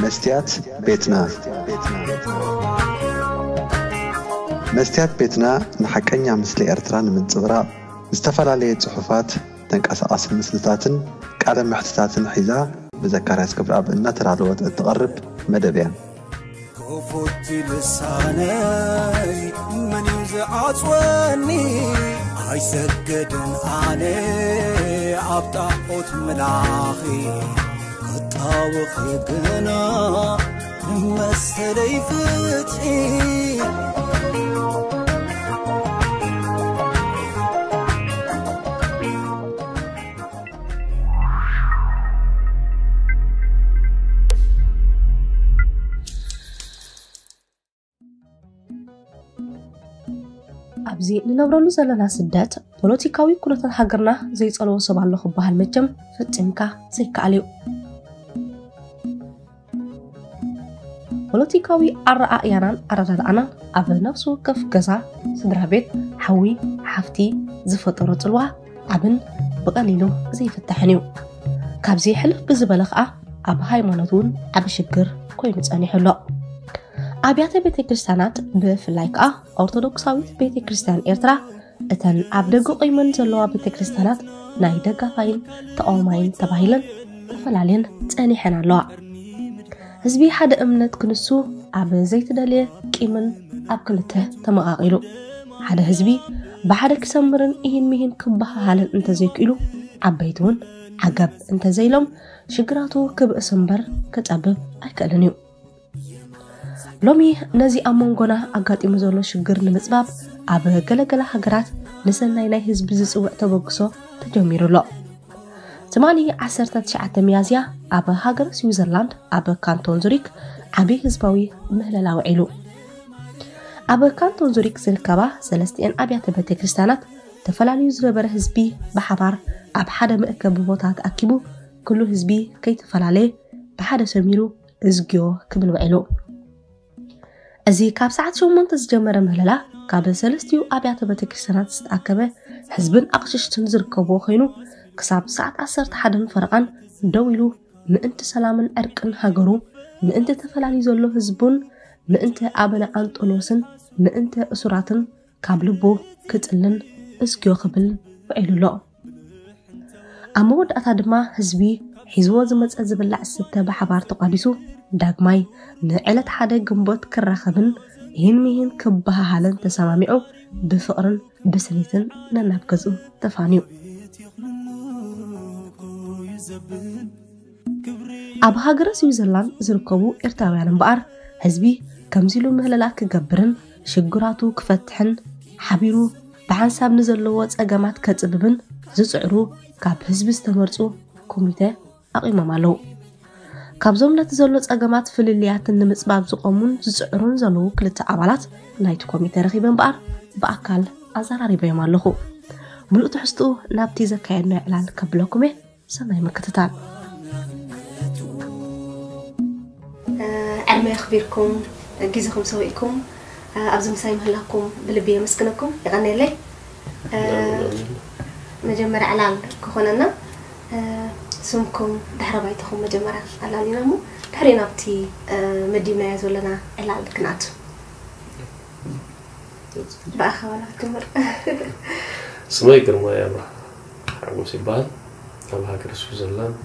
መስትያት ቤትና። መስትያት ቤትና ንሓቀኛ ምስሊ ኤርትራ ንምንጽብራቕ ዝተፈላለየ ጽሑፋት፣ ተንቀሳቓሲ ምስልታትን ቃለ መሕትታትን ሒዛ ብዘካርያስ ገብረኣብ እናተዳለወት እትቐርብ መደብ እያ። ክፉት ልሳነይ መን እዩ ዝዓጽወኒ? ኣይሰግድን ኣነ ኣብ ጣዖት ምላኺ፣ ክጣወኺ ግና መሰለይ ፍትሒ። ኣብዚ ንነብረሉ ዘለና ስደት ፖለቲካዊ ኩነታት ሃገርና ዘይጸልዎ ሰብ ኣሎ ክበሃል መቸም ፈጺምካ ዘይከኣል እዩ። ፖለቲካዊ ኣረኣእያናን ኣረዳድኣናን ኣብ ነፍሲ ወከፍ ገዛ፣ ስድራ ቤት፣ ሓዊ፣ ሓፍቲ ዝፈጠሮ ጽልዋ ዓብን ብቐሊሉ ዘይፍታሕን እዩ። ካብዚ ሕልፍ ብዝበለ ኸኣ ኣብ ሃይማኖት እውን ዓቢ ሽግር ኮይኑ ጸኒሑ ኣሎ። ኣብያተ ቤተ ክርስቲያናት ብፍላይ ከኣ ኦርቶዶክሳዊት ቤተ ክርስቲያን ኤርትራ እተን ኣብ ደገ ቆይመን ዘለዋ ቤተ ክርስቲያናት ናይ ደጋፋይን ተቓዋማይን ተባሂለን ተፈላልየን ጸኒሐን ኣለዋ። ህዝቢ ሓደ እምነት ክንሱ ኣብ ዘይተደልየ ቂምን ኣብ ክልተ ተመቓቒሉ። ሓደ ህዝቢ ብሓደ ክሰምርን ኢሂን ሚሂን ክበሃሃልን እንተዘይክኢሉ፣ ዓበይቲ እውን ዓገብ እንተዘይሎም ሽግራቱ ክብእስ እምበር ክጸብብ ኣይክእልን እዩ። ሎሚ ነዚ ኣብ መንጎና ኣጋጢሙ ዘሎ ሽግር ንምጽባብ ኣብ ገለገለ ሃገራት ንሰናይ ናይ ህዝቢ ዝጽውዕ ተበግሶ ተጀሚሩ ኣሎ። ትማሊ ዓሰርተ ትሽዓተ ሚያዝያ ኣብ ሃገረ ስዊዘርላንድ ኣብ ካንቶን ዙሪክ ዓቢ ህዝባዊ ምህለላ ውዒሉ። ኣብ ካንቶን ዙሪክ ዝርከባ ሰለስቲኤን ኣብያተ ቤተ ክርስቲያናት ተፈላለዩ ዝነበረ ህዝቢ ብሓባር ኣብ ሓደ መእከቢ ቦታ ተኣኪቡ፣ ኩሉ ህዝቢ ከይተፈላለየ ብሓደ ሰሚሩ እዝግዮ ክብል ውዒሉ። እዚ ካብ ሰዓት ሸሞንተ ዝጀመረ ምህለላ ካብ ሰለስቲኡ ኣብያተ ቤተ ክርስቲያናት ዝተኣከበ ህዝብን ኣቕሽሽትን ዝርከብዎ ኮይኑ፣ ክሳብ ሰዓት ዓሰርተ ሓደን ፈረቓን ደው ኢሉ ምእንቲ ሰላምን ዕርቅን ሃገሩ፣ ምእንቲ ተፈላልዩ ዘሎ ህዝቡን፣ ምእንቲ ኣበነ ኣንጦንዮስን ምእንቲ እሱራትን ካብ ልቡ ክጽልን እዝግዮ ክብል ውዒሉ ኣሎ። ኣብ መወዳእታ ድማ ህዝቢ ሒዝዎ ዝመጸ ዝብላዕ ዝስተ ብሓባር ተቋዲሱ ዳግማይ ንዕለት ሓደ ግንቦት ክራኸብን ይህን ሚህን ክበሃሃልን ተሰማሚዑ ብፍቕርን ብስኒትን ነናብ ገዝኡ ተፋንዩ። ኣብ ሃገረ ስዊዘርላንድ ዝርከቡ ኤርትራውያን እምበኣር፣ ህዝቢ ከምዚ ኢሉ ምህለላ ክገብርን ሽግራቱ ክፈትሕን ሓቢሩ ብሓንሳብ ንዘለዎ ጸገማት ከጽብብን ዝጽዕሩ ካብ ህዝቢ ዝተመርጹ ኮሚተ ኣቒሞም ኣለዉ። ካብዞም ነቲ ዘሎ ጸገማት ፍልልያትን ንምጽባብ ዝቖሙን ዝጽዕሩን ዘለዉ ክልተ ኣባላት ናይቲ ኮሚተ ረኺበ እምበኣር ብኣካል ኣዘራሪበዮም ኣለኹ። ምሉእ ትሕዝትኡ ናብቲ ዘካየድናዮ ዕላል ከብለኩም እየ። ሰናይ ምክትታል። ዕድመ የኽቢርኩም፣ ግዜኹም ሰዊእኩም ኣብዚ ምሳይ ምህላኩም ብልቢ የመስግነኩም። የቐንየለይ። መጀመርያ ዕላል ክኾነና፣ ስምኩም ድሕረ ባይታኹም መጀመርያ ኣላሊና እሞ ድሕሪ ናብቲ መዲብናዮ ዘለና ዕላል ክንኣቱ። ብኣኻ ዋላ ክትምር። ስመይ ግርማይ ኣብርሃ ሓጎስ ይበሃል። ኣብ ሃገር ስዊዘርላንድ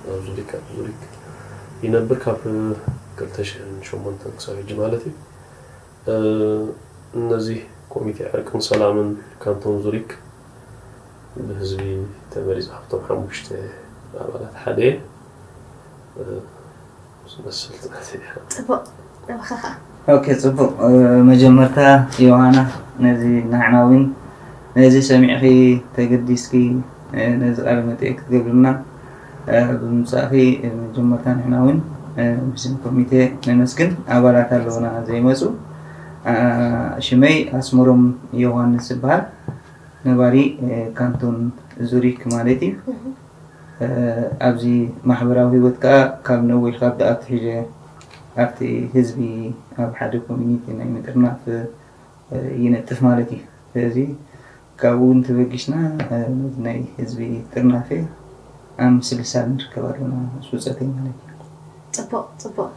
ኣብ ዙሪክ፣ ኣብ ዙሪክ ይነብር። ካብ ክልተ ሽሕን ሸሞንተን ክሳብ ሕጂ ማለት እዩ። እ፣ እነዚህ ኮሚቴ ዕርቅን ሰላምን ካንቶን ዙሪክ ብህዝቢ ተመሪጹ ካብቶም ሓሙሽተ ኣባላት ሓደ እየ። እ፣ ዝመስል ጥናት እያ። ጽቡቕ፣ ናባኻ ኸኣ። ኦኬ፣ ጽቡቕ። እ፣ መጀመርታ ዮሃና፣ ነዚ ንሕና እውን ነዚ ሰሚዕኺ ተገዲስኪ፣ እ፣ ነዚ ቃለ መጠይቅ ክትገብርና፣ እ፣ ብምምጻእኺ፣ እ፣ መጀመርታ ንሕና እውን፣ እ፣ ብስም ኮሚቴ ነመስግን። ኣባላት ኣለውና ዘይመጹ። እ፣ ሽመይ ኣስመሮም ዮሃንስ ይበሃል። ነባሪ፣ እ፣ ካንቶን ዙሪክ ማለት እዩ። እህ። እ፣ ኣብዚ ማሕበራዊ ህይወት ከኣ ካብ ነዊሕ ካብ ደኣ ኣትሒዘ ኣብቲ ህዝቢ ኣብ ሓደ ኮሚኒቲ ናይ ምጥርናፍ፣ እ፣ ይነጥፍ ማለት እዩ። ስለዚ ካብኡ እውን ተበጊስና፣ እ፣ ናይ ህዝቢ ጥርናፈ ኣብ ምስልሳል ንርከብ ኣለና፣ ሱጸተይ ማለት እዩ። ጽቡቕ፣ ጽቡቕ።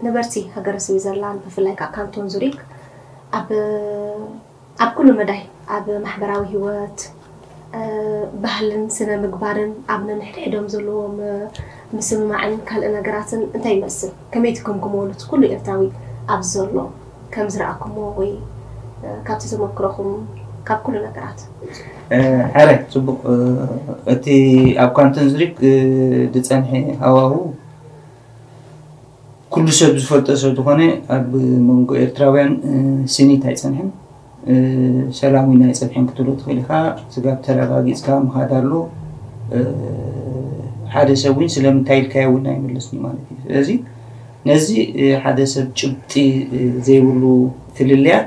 ነበርቲ ሃገረ ስዊዘርላንድ፣ ብፍላይ ከዓ ካንቶን ዙሪክ፣ ኣብ ኣብ ኩሉ መዳይ፣ ኣብ ማሕበራዊ ህይወት፣ ባህልን ስነ ምግባርን፣ ኣብ ነንሕድሕዶም ዘለዎም ምስምማዕን ካልእ ነገራትን እንታይ ይመስል? ከመይ ትግምግምዎ? እቲ ኩሉ ኤርትራዊ ኣብዚ ዘሎ ከም ዝረኣኩምዎ ወይ ካብቲ ተመክሮኹም፣ ካብ ኩሉ ነገራት? ሕረ ጽቡቕ። እቲ ኣብ ካንቶን ዙሪክ ዝጸንሐ ሃዋሁ ኩሉ ሰብ ዝፈልጦ ሰብ ዝኾነ፣ ኣብ መንጎ ኤርትራውያን ስኒት ኣይጸንሐን፣ ሰላም እውን ኣይጸንሐን ክትብሎ ትኽእል ኢኻ። ስጋብ ተረጋጊጽካ ምኻድ ኣሎ። ሓደ ሰብ እውን ስለምንታይ ኢልካዮ እውን ኣይምለስን ማለት እዩ። ስለዚ ነዚ ሓደ ሰብ ጭብጢ ዘይብሉ ፍልልያት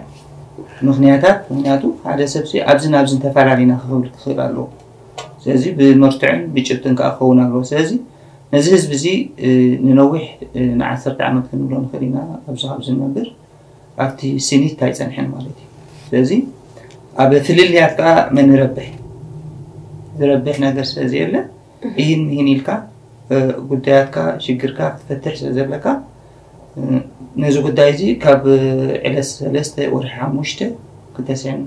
ምኽንያታት፣ ምኽንያቱ ሓደ ሰብ ኣብዚ ናብዚ ተፈላለና ክብል ክኽእል ኣለዎ። ስለዚ ብመርትዕን ብጭብጥን ከዓ ክኸውን ኣለዎ። ስለዚ ነዚ ህዝቢ እዚ ንነዊሕ ንዓሰርተ ዓመት ክንብሎ ንኽእል ኢና ኣብዚ ካብ ዝነብር ኣብቲ ስኒት ኣይጸንሐን ማለት እዩ። ስለዚ ኣብ ፍልልያት ከዓ መን ይረብሕ? ዝረብሕ ነገር ስለ ዘየለ፣ እሂን ምሂን ኢልካ ጉዳያትካ ሽግርካ ክትፈትሕ ስለ ዘለካ፣ ነዚ ጉዳይ እዚ ካብ ዕለት ሰለስተ ወርሒ ሓሙሽተ ክልተ ሽሕን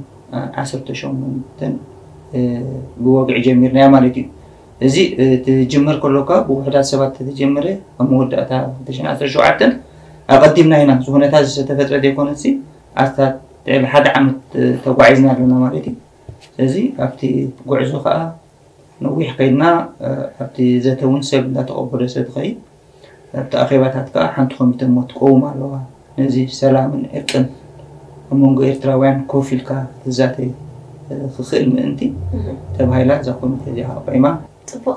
ዓሰርተ ሸሞንተን ብወግዒ ጀሚርናያ ማለት እዩ። እዚ ትጅምር ከሎካ ብውሕዳት ሰባት ተተጀመረ ኣብ መወዳእታ ክልተ ሽሕን ዓሰርተ ሸውዓተን ኣቐዲምና ኢና። እዚ ኩነታት ዝተፈጥረ ዘይኮነሲ ኣስታት ልዕሊ ሓደ ዓመት ተጓዒዝና ኣለና ማለት እዩ። ስለዚ ኣብቲ ጉዕዞ ከዓ ነዊሕ ከይድና ኣብቲ ዘተ እውን ሰብ እንዳተቐበሎ ስለ ትኸይድ ኣብቲ ኣኼባታት ከዓ ሓንቲ ኮሚተ እሞ ትቀውም ኣለዋ። ነዚ ሰላምን ዕርቅን ኣብ መንጎ ኤርትራውያን ኮፍ ኢልካ ትዛተይ ክኽእል ምእንቲ ተባሂላ እዛ ኮሚተ እዚኣ ኣቋይማ። ጽቡቕ።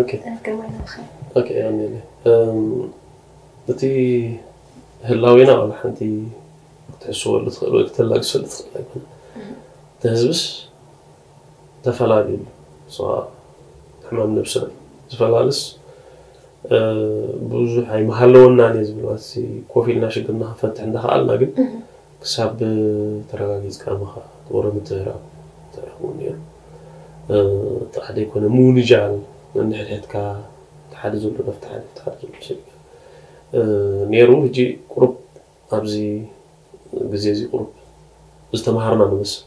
ኦኬ ግርማይ ንብኸ ኦኬ ኣሜን። እም፣ እቲ ህላዌና ዋላ ሓንቲ ክትሕስወሉ ትኽእል ወይ ክተላግሰሉ ትኽእል ኣይኮነ። እቲ ህዝብስ ተፈላልዩ ኣሎ። እሷ ሕማም ነብስና ዝፈላልስ ብዙሕ ኣይመሃለወናን እየ ዝብል ማለት ኮፍ ኢልና ሽግርና ክንፈትሕ እንዳኸኣልና ግን ክሳብ ተረጋጊፅካ ምኻድ ወረ ምትህራም ተረኽቡ ነይሩ። እቲ ሓደ ኣይኮነ ምውንጃል ነንሕድሕድካ እቲ ሓደ ዘሎ ናብቲ ሓደ እቲ ሓደ ዘሎ ሰብ ነይሩ። ሕጂ ቁሩብ ኣብዚ ግዜ እዚ ቁሩብ ዝተምሃርና ንመስል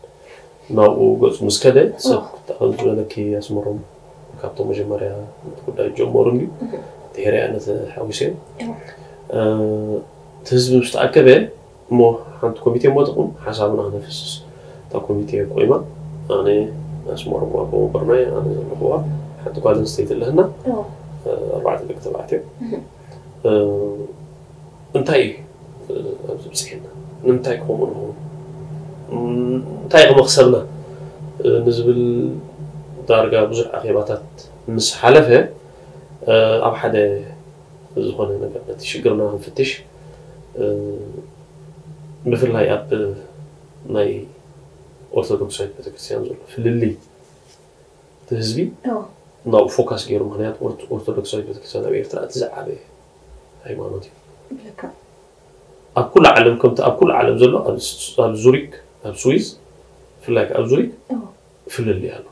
ናብኡ ገፁ ምስ ከደ ሰብ ከም ዝበለኪ ኣስመሮም ካብቶም መጀመርያ እቲ ጉዳይ ጀመሩ እንድዩ ድሕሪያ ነቲ ሓዊሰ እቲ ህዝቢ ምስ ተኣከበ እሞ ሓንቲ ኮሚቴ እሞ ጥቕም ሓሳብና ክነፍስስ እታ ኮሚቴ ቆይማ ኣነ ኣስመሮም ኣቦ ወንበርናይ ኣነ ዘለኹዋ ሓንቲ ጓል ኣንስተይቲ ኣለህና ኣርባዕተ ደቂ ተባዕትዮ እንታይ እዩ ኣብዚ ብፅሒና ንምንታይ ከምኡ ንኸውን እንታይ ከመክሰብና ንዝብል ዳርጋ ብዙሕ ኣኼባታት ምስ ሓለፈ ኣብ ሓደ ዝኾነ ነገር ነቲ ሽግርና ክንፍትሽ ብፍላይ ኣብ ናይ ኦርቶዶክሳዊት ቤተክርስትያን ዘሎ ፍልልይ እቲ ህዝቢ ናብኡ ፎካስ ገይሩ ምክንያቱ ኦርቶዶክሳዊት ቤተክርስትያን ኣብ ኤርትራ እቲ ዝዓበየ ሃይማኖት እዩ ኣብ ኩሉ ዓለም ከምቲ ኣብ ኩሉ ዓለም ዘሎ ኣብ ዙሪክ ኣብ ስዊዝ ብፍላይ ኣብ ዙሪክ ፍልልይ ኣሎ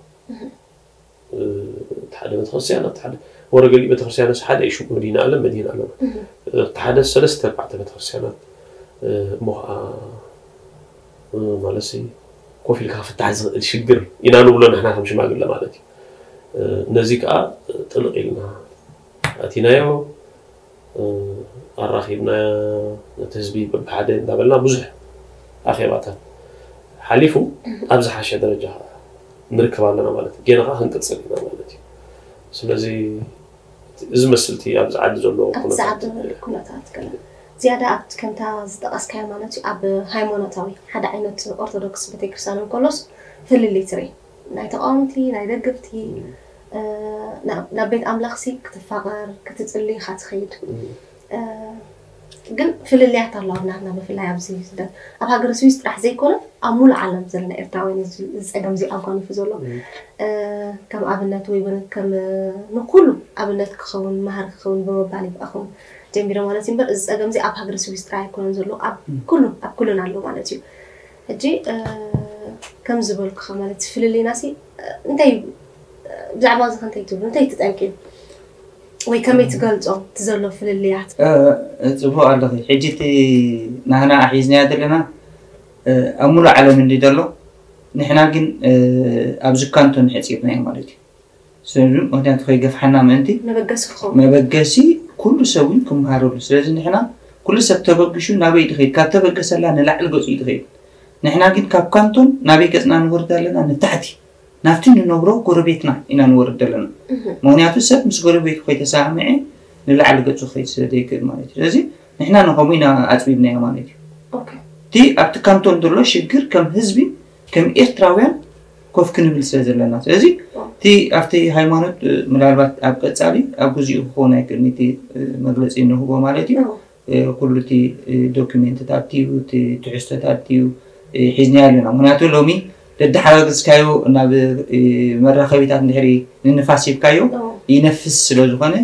እቲ ሓደ ቤተክርስትያን ኣብቲ ሓደ ወረ ገሊእ ቤተክርስትያንስ ሓደ እዩ ሽሙ መዲና ኣለም መዲና ኣለና እቲ ሓደ ሰለስተ ኣርባዕተ ቤተክርስትያናት እሞ ከዓ ማለት ኮፍ ኢልካ ክፍታሕ ዝኽእል ሽግር ኢና ንብሎ ንሕና ከም ሽማግለ ማለት እዩ ነዚ ከዓ ጥልቕ ኢልና ኣቲናዮ ኣራኺብና ነቲ ህዝቢ በብሓደ እንዳበልና ብዙሕ ኣኼባታት ሓሊፉ ኣብ ዝሓሸ ደረጃ ንርከብ ኣለና ማለት እዩ ገና ከዓ ክንቅፅል ኢና ማለት እዩ ስለዚ እዚ መስልቲ ኣብዚ ዓዲ ዘሎ ኣብዚ ዓዲ ኩነታት ገለ ዝያዳ ኣብቲ ከምታ ዝጠቐስካዮ ማለት እዩ ኣብ ሃይማኖታዊ ሓደ ዓይነት ኦርቶዶክስ ቤተክርስትያን እንከሎስ ፍልልይ ትርኢ ናይ ተቃወምቲ ናይ ደገፍቲ ናብ ቤት ኣምላኽሲ ክትፋቐር ክትፅሊ ኢኻ ትኸይድ ግን ፍልልያት ኣለዋ ናትና ብፍላይ ኣብዚ ስደት ኣብ ሃገረ ስዊስ ጥራሕ ዘይኮነ ኣብ ሙሉእ ዓለም ዘለና ኤርትራውያን ዝፀገም እዚ ኣጓኒፉ ዘሎ ከም ኣብነት ወይ እውን ከም ንኩሉ ኣብነት ክኸውን መሃር ክኸውን ብምባል ይብኣኹም ጀሚረ ማለት እዩ እምበር እዚ ፀገም እዚ ኣብ ሃገረ ስዊስ ጥራሕ ኣይኮነን ዘሎ ኣብ ኩሉ ኣብ ኩሉን ኣሎ ማለት እዩ ሕጂ ከም ዝበልኩኻ ማለት ፍልልይና ሲ እንታይ ብዛዕባ እዚ ከንታይ ትብሉ እንታይ ትጠንቅዩ ወይ ከመይ ትገልጾ እቲ ዘሎ ፍልልያት? ጽቡቅ ኣለኺ። ሕጂ እቲ ናህና ኣሒዝናያ ዘለና ኣብ ሙሉእ ዓለም እንዲ ዘሎ፣ ንሕና ግን ኣብዚ ካንቶን ሕፂርናዮ ማለት እዩ። ስለዚ ምክንያቱ ከይገፍሓና ምእንቲ መበገሲ ክኸውን መበገሲ ኩሉ ሰብ እውን ክመሃረሉ። ስለዚ ንሕና ኩሉ ሰብ ተበግሹ ናበይ ድኸይድ? ካብ ተበገሰላ ንላዕሊ ገፁ እዩ ድኸይድ። ንሕና ግን ካብ ካንቶን ናበይ ገፅና ንወርድ ኣለና? ንታሕቲ ናብቲ ንነብሮ ጎረቤትና ኢና ንወርድ ኣለና። ምክንያቱ ሰብ ምስ ጎረቤቱ ከይተሰማምዐ ንላዕሊ ገፁ ክኸይድ ስለ ዘይክእል ማለት እዩ። ስለዚ ንሕና ንኸምኡ ኢና ኣፅቢብናዮ ማለት እዩ። እቲ ኣብቲ ካንቶን ዘሎ ሽግር ከም ህዝቢ ከም ኤርትራውያን ኮፍ ክንብል ስለ ዘለና። ስለዚ እቲ ኣብቲ ሃይማኖት ምናልባት ኣብ ቀፃሊ ኣብ ግዚኡ ክኸውን ኣይክእልን እቲ መግለፂ ንህቦ ማለት እዩ። ኩሉ እቲ ዶክሜንትታት እዩ፣ እቲ ትሕዝቶታት እዩ ሒዝናዮ ኣለና። ምክንያቱ ሎሚ ደዳሓጋግዝካዮ ናብ መራኸቢታት እንድሕሪ ንንፋስ ሂብካዮ ይነፍስ ስለ ዝኾነ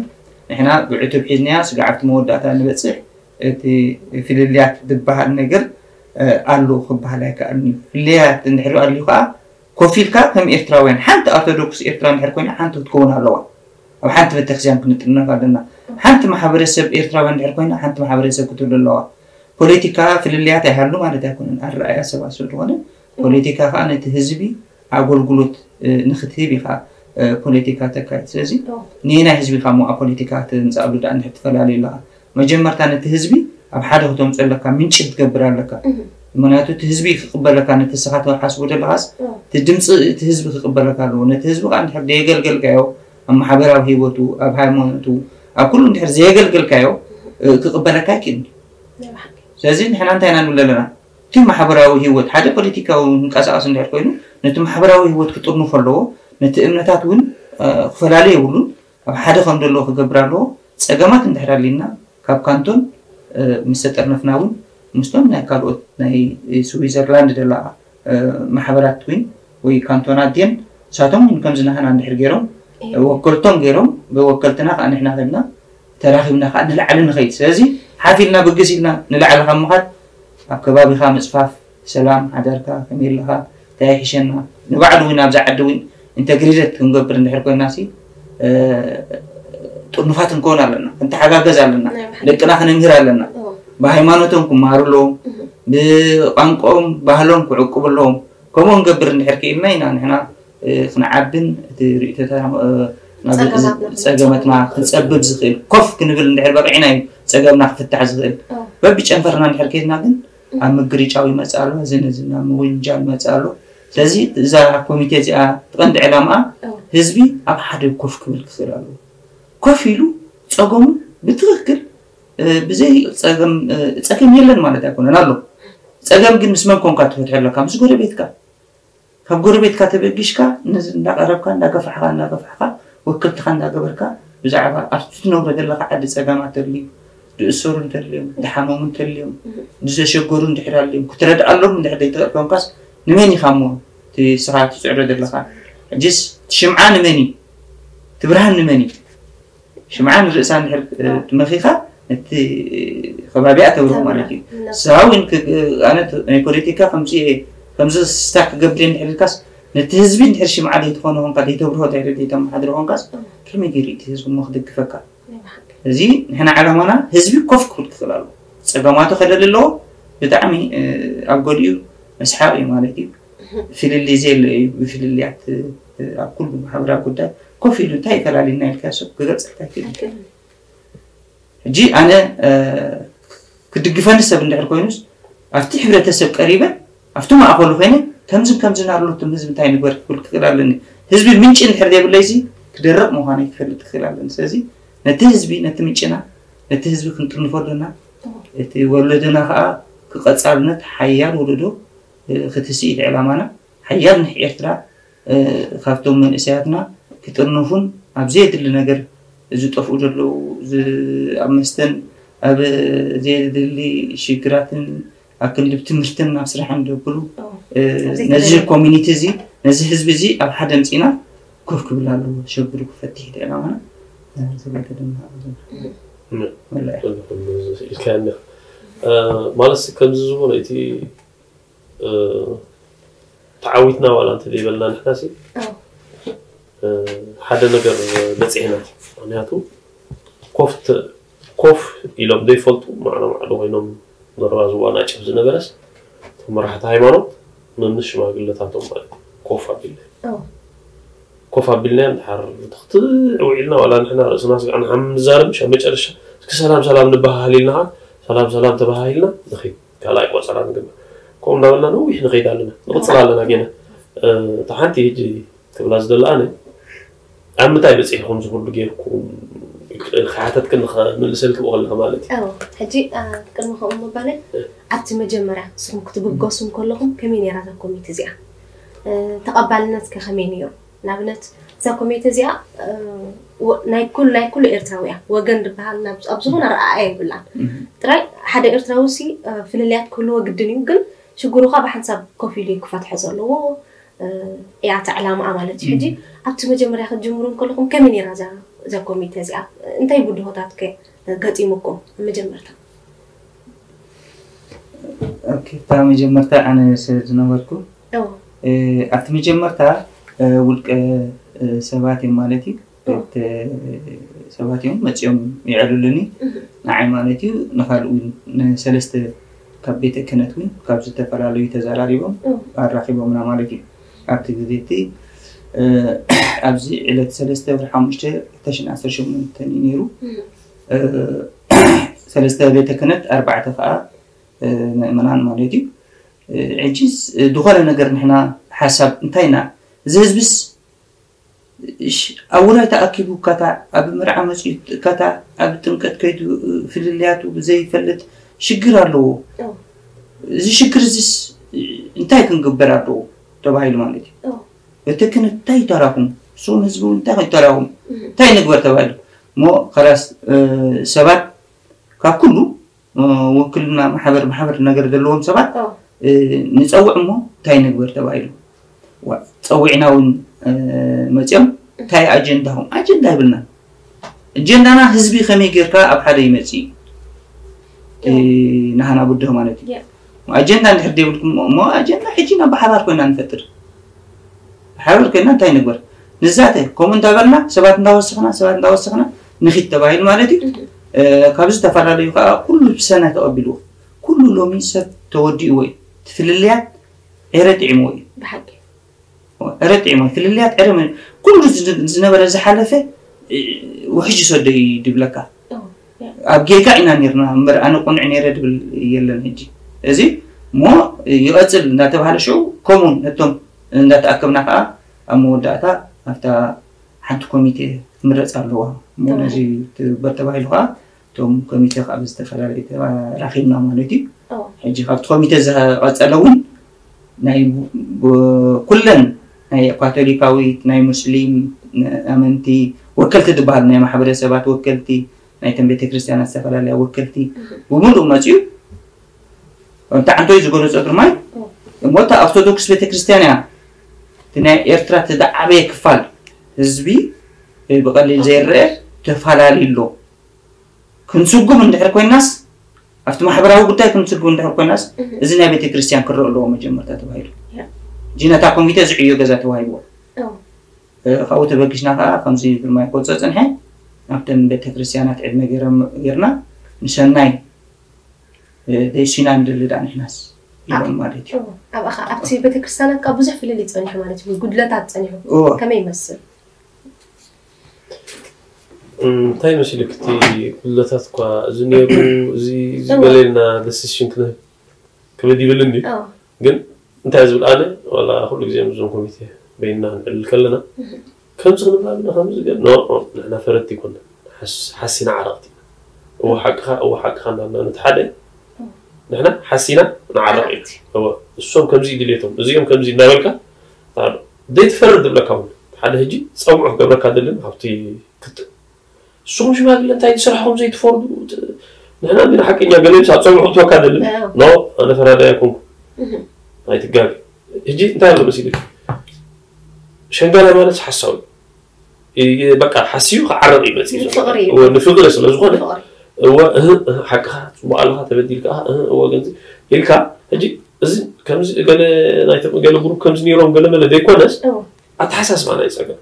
ንሕና ብዕቱብ ሒዝናያ ስጋዕ ኣብቲ መወዳእታ ንበፅሕ። እቲ ፍልልያት ዝበሃል ነገር ኣሎ ክበሃል ኣይከኣልን እዩ። ፍልልያት እንድሕሪ ኣልዩ ከዓ ኮፍ ኢልካ ከም ኤርትራውያን ሓንቲ ኣርቶዶክስ ኤርትራ እንድሕር ኮይና ሓንቲ ክትከውን ኣለዋ። ኣብ ሓንቲ ቤተክርስትያን ክንጥርነፍ ኣለና። ሓንቲ ማሕበረሰብ ኤርትራውያን እንድሕር ኮይና ሓንቲ ማሕበረሰብ ክትህሉ ኣለዋ። ፖለቲካ ፍልልያት ኣይሃሉ ማለት ኣይኮነን። ኣረኣያ ሰባት ስለዝኾነ ፖለቲካ ከዓ ነቲ ህዝቢ ኣገልግሎት ንክትህብ ኢኻ ፖለቲካ ተካይድ። ስለዚ ንየናይ ህዝቢ ኢኻ ሞ ኣብ ፖለቲካ ትምፅኣሉ ደኣ እንድሕር ትፈላለዩ ኣለኻ? መጀመርታ ነቲ ህዝቢ ኣብ ሓደ ክተምፅኦ ኣለካ፣ ምንጪ ክትገብር ኣለካ። ምክንያቱ እቲ ህዝቢ ክቕበለካ ነቲ ንስኻ ትሓስቦ ዘለኻስ እቲ ድምፂ እቲ ህዝቢ ክቕበለካ ኣለዎ። ነቲ ህዝቢ ከዓ እንድሕር ዘየገልገልካዮ ኣብ ማሕበራዊ ህይወቱ ኣብ ሃይማኖቱ ኣብ ኩሉ እንድሕር ዘየገልገልካዮ ክቕበለካ ኣይክእልን። ስለዚ ንሕና እንታይ ኢና ንብል ኣለና? እቲ ማሕበራዊ ህይወት ሓደ ፖለቲካዊ ምንቀሳቐስ እንድሕር ኮይኑ ነቲ ማሕበራዊ ህይወት ክጥርንፎ ኣለዎ። ነቲ እምነታት እውን ክፈላለ የብሉን። ኣብ ሓደ ከም ዘለዎ ክገብር ኣለዎ። ፀገማት እንድሕር ኣሊና ካብ ካንቶን ምስ ተጠርነፍና እውን ምስቶም ናይ ካልኦት ናይ ስዊዘርላንድ ደላ ማሕበራት እውን ወይ ካንቶናት ድየን ንሳቶም እውን ከምዚ ናህና እንድሕር ገይሮም ወከልቶም ገይሮም ብወከልትና ከዓ ንሕና ከድና ተራኺብና ከዓ ንላዕሊ ንኸይድ። ስለዚ ሓፍ ኢልና ብግስ ኢልና ንላዕሊ ካብ ምኻድ ኣብ ከባቢኻ ምፅፋፍ ሰላም ሓደርካ ከመይ ኣለኻ እንታይ ይሕሸና ንባዕሉ እውን ኣብዚ ዓዲ እውን ኢንተግሬትድ ክንገብር እንድሕር ኮይና ሲ ጥርኑፋት ክንከውን ኣለና፣ ክንተሓጋገዝ ኣለና፣ ደቅና ክነምህር ኣለና። ብሃይማኖቶም ክመሃሩ ኣለዎም፣ ብቋንቋኦም ባህሎም ክዕቅቡ ኣለዎም። ከምኡ ክንገብር እንድሕር ክኢልና ኢና ንሕና ክንዓብን እቲ ርእቶታ ናብ ጸገማትና ክጸብብ ዝኽእል ኮፍ ክንብል እንድሕር በቂዕና እዩ ጸገምና ክፍታሕ ዝኽእል። በብጨንፈርና እንድሕር ከይድና ግን ኣብ ምግርጫው ይመጽእ ኣሎ፣ እዚ ነዚ ናብ ምውንጃል ይመጽእ ኣሎ። ስለዚ እዛ ኮሚቴ እዚኣ ትቐንዲ ዕላምኣ ህዝቢ ኣብ ሓደ ኮፍ ክብል ክኽእል ኣለዎ። ኮፍ ኢሉ ጸገሙ ብትኽክል ብዘይ ጸገም ጸገም የለን ማለት ኣይኮነን ኣሎ። ጸገም ግን ምስ መን ኮንካ ትፈትሖ ኣለካ? ምስ ጎረቤትካ። ካብ ጎረቤትካ ተበጊሽካ ነዚ እንዳቐረብካ እንዳገፋሕካ እንዳገፋሕካ ወክልትኻ እንዳገበርካ ብዛዕባ ኣብቲ ትነብሮ ዘለካ ዓዲ ጸገማት ተልዩ ዝእሰሩ እንተልዮም ዝሓመሙ እንተልዮም ዝተሸገሩ እንድሕር ኣልዮም ክትረድኣሎም እንድሕር ዘይትኽእል ኮንካስ ንመን ኢኻ እሞ እቲ ስኻ ትፅዕሮ ዘለኻ ሕጅስ እቲ ሽምዓ ንመን እዩ እቲ ብርሃን ንመን እዩ ሽምዓ ንርእሳ እንድሕር ትመኺኻ ነቲ ከባቢኣ ተብርሆ ማለት እዩ። ንሳ እውን ኣነ ናይ ፖለቲካ ከምዚ ከምዚ ስታ ክገብር እንድሕር ኢልካስ ነቲ ህዝቢ እንድሕር ሽምዓ ዘይትኾኖ ኾንካ ዘይተብርሆ ድሕሪ ዘይተመሓድሮ ኾንካስ ከመይ ገይሩ እቲ ህዝቢ እሞ ክድግፈካ? እዚ ንሕና ዓላማና ህዝቢ ኮፍ ክብል ክኽእል ኣለዎ። ፀገማቱ ከለሊ ኣለዎ። ብጣዕሚ ኣብ ገሊኡ መስሓቕ እዩ ማለት እዩ። ፍልልይ ዘየለ እዩ። ብፍልልያት ኣብ ኩሉ ማሕበራዊ ጉዳይ ኮፍ ኢሉ እንታይ ይፈላልየና ኢልካ ሰብ ክገልፀልካ ኣይክእልን። ሕጂ ኣነ ክድግፈኒ ሰብ እንድሕር ኮይኑስ ኣብቲ ሕብረተሰብ ቀሪበ ኣብቲ ማእኸሉ ኮይነ ከምዝን ከምዝን ኣሎ እቶም ህዝቢ እንታይ ንግበር ክብል ክኽእል ኣለኒ። ህዝቢ ምንጪ እንድሕር ዘይብለይሲ ክደርቕ ምዃነይ ክፈልጥ ክኽእል ኣለኒ። ስለዚ ነቲ ህዝቢ ነቲ ምንጭና ነቲ ህዝቢ ክንጥርንፎ ኣለና። እቲ ወለዶና ከዓ ክቐፃልነት ሓያል ወለዶ ክትስኢት ዕላማና ሓያል ንሕ ኤርትራ ካብቶም መንእሰያትና ክጥርነፉን ኣብ ዘየድሊ ነገር ዝጠፍኡ ዘለዉ ኣብ መስተን ኣብ ዘየድሊ ሽግራትን ኣብ ክንዲ ትምህርትን ኣብ ስራሕን ደብሉ ነዚ ኮሚኒቲ እዚ ነዚ ህዝቢ እዚ ኣብ ሓደ ምፅና ኮፍ ክብል ኣለዎ ሸግሩ ክፈትሕ ዕላማና ኢልካ ማለት ከምዚ ዝበሎ እቲ ተዓዊትና ዋላ እንተ ዘይበልና ንሕና ሲ ሓደ ነገር በፂሕና ምክንያቱ ኮፍ ት- ኮፍ ኢሎም ዘይፈልጡ ማዕዶ ማዕዶ ኮይኖም ዘራዝዋ ናጭፍ ዝነበረስ፣ እቶም መራሕቲ ሃይማኖት መምስ ሽማግለታቶም ማለት እዩ። ኮፍ ኣቢልና ኦ ኮፍ ኣቢልና እንድሓር ትኽትዕ ውዒልና ዋላ ንሕና ርእስና ስጋዕና ሓም ንዛረብ ምሽ ኣብ መጨረሻ እስኪ ሰላም ሰላም ንበሃሃል ኢልና ኸዓ ሰላም ሰላም ተበሃሂልና ንኺድ ካልኣይ ቆፀራ ንግበር። ከምኡ እንዳበልና ነዊሕ ንኸይድ ኣለና ንቕፅል ኣለና ጌና። እታ ሓንቲ ሕጂ ክብላ ዝደለኣነ ኣብ ምንታይ በፂሕኩም ዝኹሉ ጌርኩም ክሓተትክን ምልሰልኪ ብቐልካ ማለት እዩ። ሕጂ ቅድሚ ከምኡ ምባለይ ኣብቲ መጀመርያ ንስኹም ክትብገሱ እንከለኹም ከመይ ነይራ እዛ ኮሚት እዚኣ? ተቐባልነት ከ ከመይ ነይሩ? ንኣብነት እዛ ኮሚቴ እዚኣ ናይ ኩሉ ናይ ኩሉ ኤርትራዊ እያ። ወገን ዝበሃል ኣብ ዝኾነ ኣረኣእያ የብላን። ጥራይ ሓደ ኤርትራዊ ሲ ፍልልያት ክህልዎ ግድን እዩ፣ ግን ሽግሩ ኸ ብሓንሳብ ኮፍ ኢሉ እዩ ክፈትሖ ዘለዎ። እያ እታ ዕላማኣ ማለት እዩ። ሕጂ ኣብቲ መጀመርያ ክትጅምሩ እንከለኹም ከመይ ነይራ እዛ እዛ ኮሚቴ እዚኣ? እንታይ ብድሆታት ከ ገጢሙኩም ኣብ መጀመርታ? ኦኬ፣ እታ መጀመርታ ኣነ ስለ ዝነበርኩ ኣብቲ መጀመርታ ውልቀ ሰባት እዮም ማለት እዩ። ሰባት እዮም መፂኦም ይዕልሉኒ ንዓይ ማለት እዩ። ንካልእ እውን ንሰለስተ ካብ ቤተ ክህነት እውን ካብ ዝተፈላለዩ ተዘራሪቦም ኣራኪቦምና ማለት እዩ። ኣብቲ ግዜ እቲ ኣብዚ ዕለት ሰለስተ ወርሒ ሓሙሽተ ክልተ ሽሕን ዓሰርተ ሸሞንተን እዩ ነይሩ። ሰለስተ ቤተ ክህነት ኣርባዕተ ከዓ ምእመናን ማለት እዩ። ሕጂስ ዝኾነ ነገር ንሕና ሓሳብ እንታይ ኢና እዚ ህዝብስ ኣብ ውራይ ተኣኪቡ ካታ ኣብ መርዓ መፅኡ ካታ ኣብ ጥምቀት ከይዱ ፍልልያቱ ዘይፈልጥ ሽግር ኣለዎ። እዚ ሽግር እዚስ እንታይ ክንግበር ኣለዎ ተባሂሉ ማለት እዩ። እቲ ክን እንታይ ተራኹም እሱም ህዝቢ እንታይ ተራኹም እንታይ ንግበር ተባሂሉ እሞ ከላስ ሰባት ካብ ኩሉ ውክልና ማሕበር ማሕበር ነገር ዘለዎም ሰባት ንፀውዕ እሞ እንታይ ንግበር ተባሂሉ ፀዊዕና እውን መፅኦም እንታይ ኣጀንዳኹም ኣጀንዳ ይብልና ኣጀንዳና ህዝቢ ከመይ ጌርካ ኣብ ሓደ ይመፅእ ናሃና ብድሆ ማለት እዩ። ኣጀንዳ እንድሕር ደይብልኩም እሞ ኣጀንዳ ሕጂ ናብ ብሓባር ኮይና ንፈጥር ብሓባር ኮይና እንታይ ንግበር ንዛተ ከምኡ እንዳበልና ሰባት እንዳወሰኽና ሰባት እንዳወሰኽና ንኺድ ተባሂሉ ማለት እዩ። ካብ ዝተፈላለዩ ከዓ ኩሉ ብሰናይ ተቐቢልዎ ኩሉ ሎሚ ሰብ ተወዲእዎ እዩ። ትፍልልያት ዕረ ጥዒምዎ እዩ። ብሓቂ ዕረ ጥዒምዎ ፍልልያት ዕረ ኩሉ ዝነበረ ዝሓለፈ ውሕጅ ሰዶ እዩ ድብለካ። ኣብ ጌጋ ኢና ነርና እምበር ኣነ ቁኑዕ ነረ ድብል የለን። ሕጂ እዚ እሞ ይቐፅል እንዳተባሃለ ሽዑ ከምኡ ነቶም እንዳተኣከብና ከዓ ኣብ መወዳእታ ኣብታ ሓንቲ ኮሚቴ ትምረፅ ኣለዋ እሞ ነዚ ትግበር ተባሂሉ ከዓ እቶም ኮሚቴ ከዓ ብዝተፈላለዩ ተራኺብና ማለት እዩ። ሕጂ ካብቲ ኮሚቴ ዝቐፀለ እውን ናይ ኩለን ናይ ካቶሊካዊት ናይ ሙስሊም ኣመንቲ ወከልቲ ዝበሃሉ ናይ ማሕበረሰባት ወከልቲ ናይተን ቤተክርስትያናት ዝተፈላለያ ወከልቲ ብምሉእ መፅኡ ከምቲ ዓንቶይ ዝገለፆ ግርማይ እሞ እታ ኦርቶዶክስ ቤተክርስትያን እያ እቲ ናይ ኤርትራ እቲ ዝዓበየ ክፋል ህዝቢ ብቐሊል ዘይረአ ተፈላለዩ ኣሎ። ክንስጉም እንድሕር ኮይናስ ኣብቲ ማሕበራዊ ጉዳይ ክንስጉም እንድሕር ኮይናስ እዚ ናይ ቤተክርስትያን ክረአ ኣለዎ መጀመርታ ተባሂሉ። ሕጂ ነታ ኮሚቴ ዝዕዮ ገዛ ተዋሂብዎ። ካብኡ ተበጊስና ከዓ ከምዚ ግርማይ ክገልፆ ፀንሐ ኣብተን ቤተክርስትያናት ዕድመ ገይሮም ጌርና ንሰናይ ደይሲና ንደሊ ዳ ንሕናስ ኢሎም ማለት እዩ። ኣብቲ ቤተክርስትያናት ከዓ ብዙሕ ፍልልይ ፀኒሑ ማለት እዩ። ጉድለታት ፀኒሑ ከመይ ይመስል? እንታይ መሲልክ እቲ ጉድለታት እኳ እዚ ነይሩ እዚ ዝበለልና ደሲሽን ክንህብ ክብድ ይብል እንዲ ግን እንታይ ዝብል ኣነ ዋላ ኩሉ ግዜ ምስዞም ኮሚቴ በይንና ክንዕልል ከለና ከምዚ ክንብል ኣለና ከምዚ ገ ኖ ንሕና ፈረድቲ ይኮና ሓሲና ዓረቕቲ ኢና እወ ሓቅኻ እወ ሓቅኻ እንዳልና ነቲ ሓደ ንሕና ሓሲና ንዓረቕ ኢና እወ እሶም ከምዚ ድልየቶም እዚኦም ከምዚ እንዳበልካ ዘይትፈርድ ዝብለካ እውን ሓደ ሕጂ ፀውዑ ክገብረካ ደልን ካብቲ ክትእ ንስኹም ሽማግለ እንታይ ንስራሕኹም ዘይትፈርዱ ንሕና እንዲና ሓቀኛ ገለ ሳብ ፀውዑ ክትወካ ደልን ኖ ኣነ ፈራዳይ ኣይኮንኩ ኣይትጋግ ሕጂ እንታይ ኣሎ መሲልክ ሸንጋላይ ማለት ሓሳዊ በቃ ሓሲዩ ክዓረቕ እዩ መፅእ ንፍቕሪ ስለ ዝኾነ እወ ሓቅኻ ፅቡቅ ኣለኻ ተበዲልካ እወ ገንዚ ኢልካ ሕጂ እዚ ከምዚ ገለ ናይቶም ገለ ግሩፕ ከምዚ ነይሮም ገለ መለ ዘይኮነስ ኣተሓሳስባና እዩ ፀገም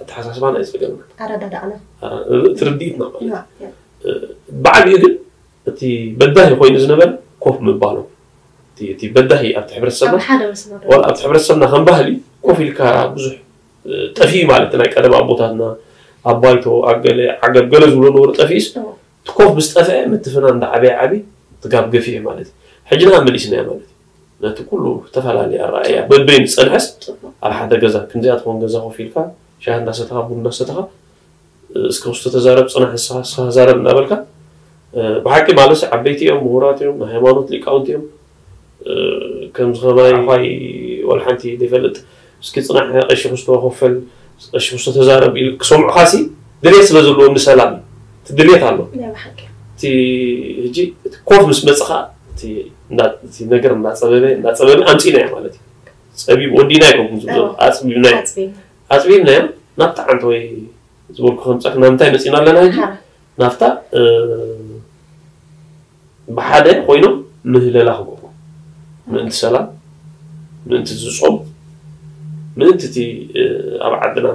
ኣተሓሳስባና እዩ ጸገምና። ኣረዳዳእና እ፣ እቲ ርድኢትና ማለት እዩ። ያ፣ ያ። ብዓቢኡ ግን እቲ በዳሂ ኮይኑ ዝነበረ ኮፍ ምባሎም። እቲ፣ እቲ በዳሂ ኣብቲ ሕብረተሰብና ኣብ ሓደ መስመር ዋላ ኣብቲ ሕብረተሰብና ከም ባህሊ ኮፍ ኢልካ ብዙሕ፣ እ፣ ጠፊኡ ማለት ናይ ቀደም ኣቦታትና ኣብ ባይቶ ኣብ ገለ ዓገብ ገለ ዝብሎ ነበሩ ጠፊኡስ እዎ። እቲ ኮፍ ምስ ጠፍአ ምትፍና እንዳ ዓበየ ዓቢ ትጋብ ገፊሕ ማለት እዩ። ሕጂ ንዓ መሊስናያ ማለት እዩ። ነቲ ኩሉ ዝተፈላለየ ኣረኣእያ በበይኑ ዝጸንሐስ ጽቡቕ። ኣብ ሓደ ገዛ ክንዚኣ ትኾን ገዛ ኮፍ ኢልካ ሻሂ እንዳሰተኻ ቡን እንዳሰተኻ እስከ ውስቶ ተዛረብ ጽናሕ ንስኻ ንስኻ ተዛረብ እንዳበልካ፣ እ፣ ብሓቂ ማለት ዓበይቲ እዮም፣ ምሁራት እዮም፣ ናይ ሃይማኖት ሊቃውንቲ እዮም። እ፣ ከምዚ ከማይ ዓፋይ ወላ ሓንቲ ዘይፈልጥ፣ እስኪ ጽናሕ ቀሺ ክስቶ ኮፈል፣ ቀሺ ክስቶ ተዛረብ ኢሉ ክሰምዑኻሲ ድሌት ስለ ዘለዎም ንሰላም እዩ። እቲ ድሌት ኣሎ። ናይ ብሓቂ እቲ ሕጂ እቲ ኮፍ ምስ መጽኻ እቲ እንዳ-፣ እቲ ነገር እንዳጸበበ እንዳጸበበ ኣምጺናዮ ማለት እዩ። ጸቢብ ወዲና ኣይኮንኩም ዝብሎ እዎ። ኣጽቢብናዮ ኣጽቢብ ኣጽቢብናዮ ናብታ ዓንተ ወይ ዝበልኩ ከምጻክ ናብ ምንታይ መጺና ኣለና ሕጂ ሓራ ናብታ እ፣ ብሓደ ኮይኖም ምህለላ ክገብሩ ምእንቲ ሰላም ምእንቲ ዝጾም ምእንቲ እቲ እ፣ ኣብ ዓድና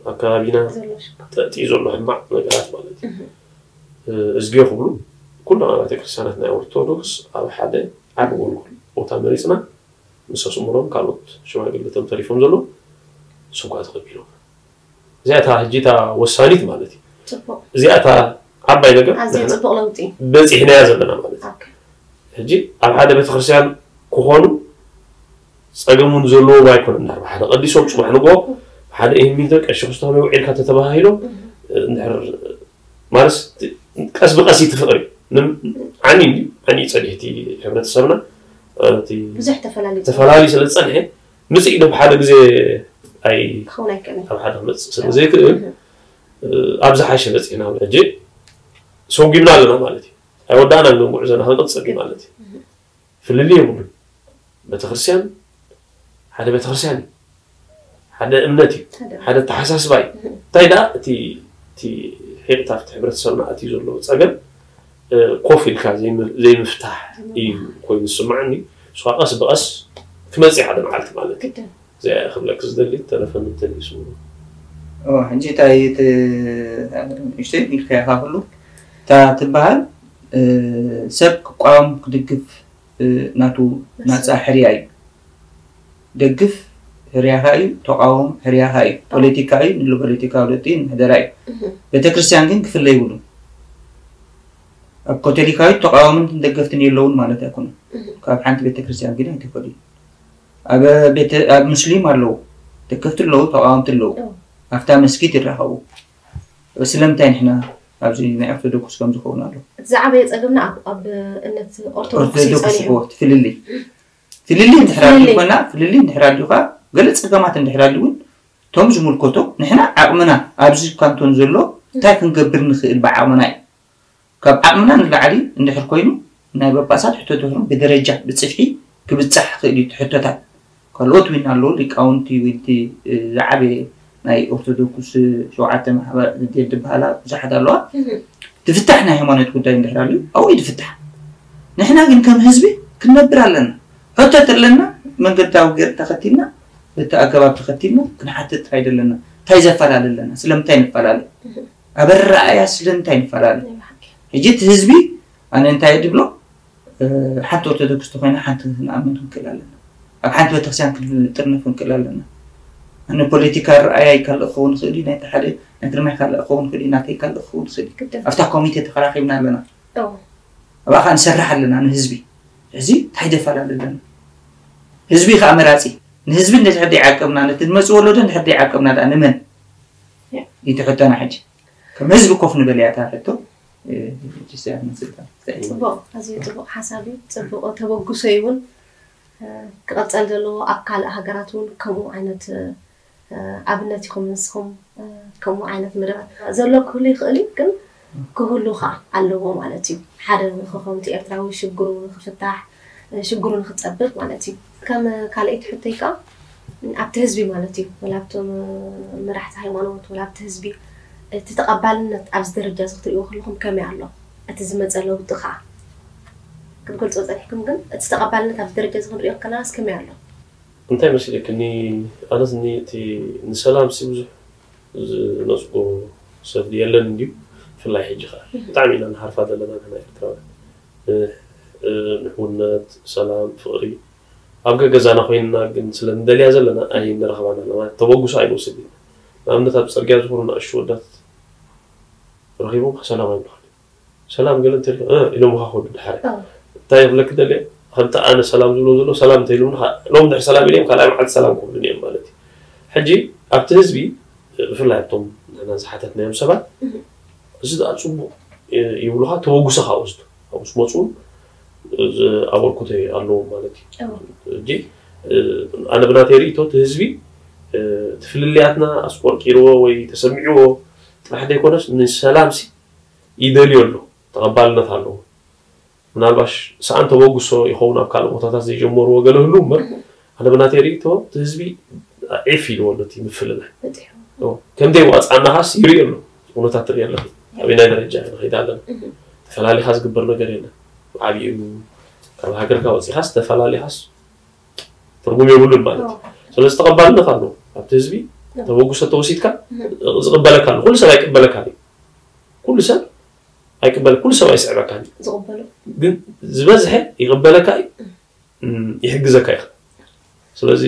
ኣብ ከባቢና ዘሎ ሽግር ተእትዩ ዘሎ ሕማቕ ነገራት ማለት እዩ። እህ። እ፣ እዝግዮ ክብሉ ኩሎም ኣብያተ ክርስቲያናት ናይ ኦርቶዶክስ ኣብ ሓደ ዓቢ ጎልጎል ቦታ መሪጽና ምስ ኣስምሮም ካልኦት ሽማግለቶም ተሪፎም ዘሎ ሰጓ ተቐቢሎም እዚኣ እታ ሕጂ እታ ወሳኒት ማለት እዩ። ጽቡቕ እዚኣ እታ ዓባይ ነገር ኣዝዩ ንሕና ጽቡቕ ለውጢ እዩ። በጺሕናያ ዘለና ማለት እዩ። ኦኬ ሕጂ ኣብ ሓደ ቤተክርስትያን ክኾኑ ጸገም እውን ዘለዎም ኣይኮነን። እንድሕር ብሓደ ቀዲሶም ጽባሕ ንግሆ ብሓደ ኢህሚንቶ ቀሺ ክስቶ ከመይ ውዒልካ ተተባሂሎም እንድሕር ማለትስ ቀስ ብቀስ እዩ እቲ ፍቕሪ። ንም-፣ ዓኒ እንድዩ፣ ዓኒ እዩ ጸኒሑ እቲ ሕብረተሰብና። እቲ ብዙሕ ተፈላለዩ ተፈላለዩ ስለ ዝጸንሐ ምጽእ ኢሉ ብሓደ ግዜ ኣይ ክኸውን ኣይክእልን ኣብ ሓደ ክመጽእ ስለ ዘይክእል ኣብ ዝሓሸ በጺሕና ሕጂ ሰጒምና ኣለና ማለት እዩ። ኣይወዳእናን ግን ጉዕዞና ክንቅጽል እዩ ማለት እዩ። ፍልልይ የብሉን። ቤተክርስትያን ሓደ ቤተክርስትያን እዩ። ሓደ እምነት እዩ። ሓደ ሓደ ኣተሓሳስባ እዩ። እንታይ ደኣ እቲ እቲ ሒቕታ ኣብቲ ሕብረተሰብና ኣትዩ ዘሎ ጸገም እ፣ ኮፍ ኢልካ ዘይም-፣ ዘይምፍታሕ እዩ ኮይኑ ዝስምዓኒ። እሱ ከዓ ቀስ ብቐስ ክመጽእ ሓደ መዓልቲ ማለት እዩ። ግድን እዚኣ ክብለክ ዝደሊ ተረፈ ምተሊሱ እዎ፣ ሕጂ እንታይ እቲ ንእሽተይ ኢልካዮ ኢኻ ኩሉ እታ ትበሃል እ፣ ሰብ ክቋወም ክድግፍ እ፣ ናቱ ናጻ ሕርያ እዩ። ደግፍ ሕርያኻ እዩ፣ ተቃወም ሕርያኻ እዩ። ፖለቲካ እዩ፣ ንሉ ፖለቲካዊ ለውጢ ንሕደራ እዩ። ቤተክርስትያን ግን ክፍለ ይብሉ። ኣብ ካቶሊካዊት ተቃወምትን ደገፍትን የለውን ማለት ኣይኮነን። ካብ ሓንቲ ቤተክርስትያን ግን ኣይትፈልዩ። ኣብ ቤተ ኣብ ሙስሊም ኣለዉ፣ ደገፍቲ ኣለዉ፣ ተቃወምቲ ኣለዉ። ኣብታ መስጊድ ይራኸቡ። ስለምንታይ ንሕና ኣብዚ ናይ ኦርቶዶክስ ከም ዝኸውን ኣሎ? እቲ ዝዓበየ ጸገምና ኣብ ኣብ እምነት ኦርቶዶክስ እዩ ኦርቶዶክስ ጸኒሑ። እዎ፣ እቲ ፍልልይ ፍልልይ እንድሕር ፍልልይ። ኣልዩ ኮና ፍልልይ እንድሕር ኣልዩ ኸዓ ገለ ጸገማት እንድሕር ኣልዩ እውን እቶም ዝምልከቶ ንሕና ዓቕምና ኣብዚ ካንቶን ዘሎ እንታይ ክንገብር ንኽእል ብዓቕምና እዩ። ካብ ዓቕምና ንላዕሊ እንድሕር ኮይኑ ናይ ጳጳሳት ሕቶ ድሕሩ ብደረጃ ብጽፍሒ ክብጻሕ ይኽእል እዩ እቲ ሕቶታት። ካልኦት እውን ኣለዉ ሊቃውንቲ ወይ እቲ ዝዓበየ ናይ ኦርቶዶክስ ሸውዓተ ማሕበር ዝበሃላ ብዙሓት ኣለዋ። ዝፍታሕ ናይ ሃይማኖት ጉዳይ እንድሕር ኣልዩ ኣብኡ እዩ ዝፍታሕ። ንሕና ግን ከም ህዝቢ ክንነብር ኣለና። ሕቶ ተለና መንገዳዊ ገይር ተኸቲልና በቲ ኣገባብ ተኸቲልና ክንሓትት ጥራይ ደለና። እንታይ ዘፈላለ ኣለና? ስለምንታይ ንፈላለ? ኣብ ኣረኣእያ ስለምንታይ ንፈላለ? ሕጂ እቲ ህዝቢ ኣነ እንታይ ድብሎ ሓንቲ ኦርቶዶክስ ተኮይና ሓንቲ ክንኣምን ክንክእል ኣለና። ኣብ ሓንቲ ቤተክርስትያን ክንጥርነፍ ክንክእል ኣለና። ኣነ ፖለቲካ ኣረኣእያ ይካልእ ክኸውን ይኽእል እዩ፣ ናይቲ ሓደ ናይ ግርማይ ካልእ ክኸውን ይኽእል እዩ፣ ናተይ ካልእ ክኸውን ይኽእል እዩ። ኣብታ ኮሚቴ ተኸራኺብና ኣለና። ኣብኣ ከዓ ንሰርሕ ኣለና ንህዝቢ። ሕዚ እንታይ ደፈላለ ኣለና? ህዝቢ ከዓ መራፂ። ንህዝቢ እንድሕር ደይዓቀብና ነቲ ዝመፅእ ወለዶ እንድሕር ደይዓቀብና ደኣ ንመን? እዩ እቲ ሕቶና ሕጂ። ከም ህዝቢ ኮፍ ንበል እያ እታ ሕቶ። ጽቡቕ፣ ኣዝዩ ጽቡቕ ሓሳብ እዩ። ጽቡቕ ተበግሶ እዩ እውን ክቐጸል ዘለዎ። ኣብ ካልእ ሃገራት እውን ከምኡ ዓይነት ኣብነት ኢኹም ንስኹም ከምኡ ዓይነት መደባት ዘሎ ክህሉ ይኽእል እዩ፣ ግን ክህሉ ከዓ ኣለዎ ማለት እዩ። ሓደ ንኽኸምቲ ኤርትራዊ ሽግሩ ንኽፍታሕ ሽግሩ ንኽጸብብ ማለት እዩ። ከም ካልኣይቲ ሕቶይ ከዓ ኣብቲ ህዝቢ ማለት እዩ፣ ወላ ኣብቶም መራሕቲ ሃይማኖት ወላ ኣብቲ ህዝቢ እቲ ተቐባልነት ኣብዚ ደረጃ እዚ ክትርእይዎ ከለኹም ከመይ ኣሎ? እቲ ዝመጸ ለውጢ ከዓ ክትገልጾ ጸኒሕኩም፣ ግን እቲ ተቐባልነት ኣብዚ ደረጃ እዚ ክንርእዮ ከለናስ ከመይ ኣሎ? እንታይ መሲለክኒ ኣነስ እቲ ንሰላም ሲ ብዙሕ ዝነፅጎ ሰብ የለን እንድዩ። ብፍላይ ሕጂ ከዓ ብጣዕሚ ኢና ንሃርፋ ዘለና ንሕና ኤርትራውያን። እ፣ እ፣ ንሕውነት፣ ሰላም፣ ፍቕሪ ኣብ ገገዛና ኮይንና ግን ስለ ንደልያ ዘለና ኣይንረኽባን ኣለና። ተበግሶ ኣይንወስድ ኢና። ንኣብነት ኣብ ፅርግያ ዝኾኑ ንኣሽቱ ወዳት ረኺቦም ሰላም ኣይብሉኻን። ሰላም ገለ እንተልካ፣ "እ" ኢሎም ኻ ከዱ ድሓረ። እንታይ ክብለክ ደልየ? ከምቲ ኣነ ሰላም ዝብሎ ዘሎ ሰላም እንተኢሉምኒ፣ ሎሚ ድሕሪ ሰላም ኢሎም ካልኣይ መዓልቲ ሰላም ክብሉኒ እዮም ማለት እዩ። ሕጂ ኣብቲ ህዝቢ፣ ብፍላይ ኣብቶም ንሕና ዝሓተትናዮም ሰባት፣ እዚ ደኣ ጽቡቕ ይብሉኻ፣ ተበግሶ ካብ ወስዱ፣ ካብኡ ዝመጹ፣ እዚ ኣበርክቶ ኣለዎም ማለት እዩ። ሕጂ፣ ኣነ ብናተይ ርእይቶ፣ እቲ ህዝቢ፣ እቲ ፍልልያትና ኣስቆርቂርዎ ወይ ተሰሚዕዎ ጥራሕ ዘይኮነስ፣ ንሰላምሲ ይደልዮ ኣሎ፣ ተቐባልነት ኣለዎ። ምናልባሽ ሰኣን ተበግሶ ይኸውን ኣብ ካልእ ቦታታት ዘይጀመርዎ ገለ ህሉ እምበር፣ ኣነ ብናተይ ርእይቶ፣ እቲ ህዝቢ ዒፍ ኢልዎ ኣሎ እቲ ምፍልላይ። ከም ደይ ዋፅኣና ኻስ ይርኢ ኣሎ። እውነታት ትርኢ ኣለኺ። ኣበይ ናይ ደረጃ ንኸይድ ኣለና። ተፈላሊኻ ዝግበር ነገር የለን። ዓብዩ ካብ ሃገርካ ወፂኻስ ተፈላሊኻስ ትርጉም የብሉን ማለት እዩ። ስለዚ ተቐባልነት ኣሎ። ኣብቲ ህዝቢ ተበግሶ ተወሲድካ ዝቕበለካ ኣሎ። ኩሉ ሰብ ኣይቅበለካ እዩ። ኩሉ ሰብ ኣይቅበል፣ ኩሉ ሰብ ኣይስዕበካን እዩ። ዝቕበሎ። ግን ዝበዝሐ ይቕበለካ እዩ። እም፣ ይሕግዘካ እዩ። ስለዚ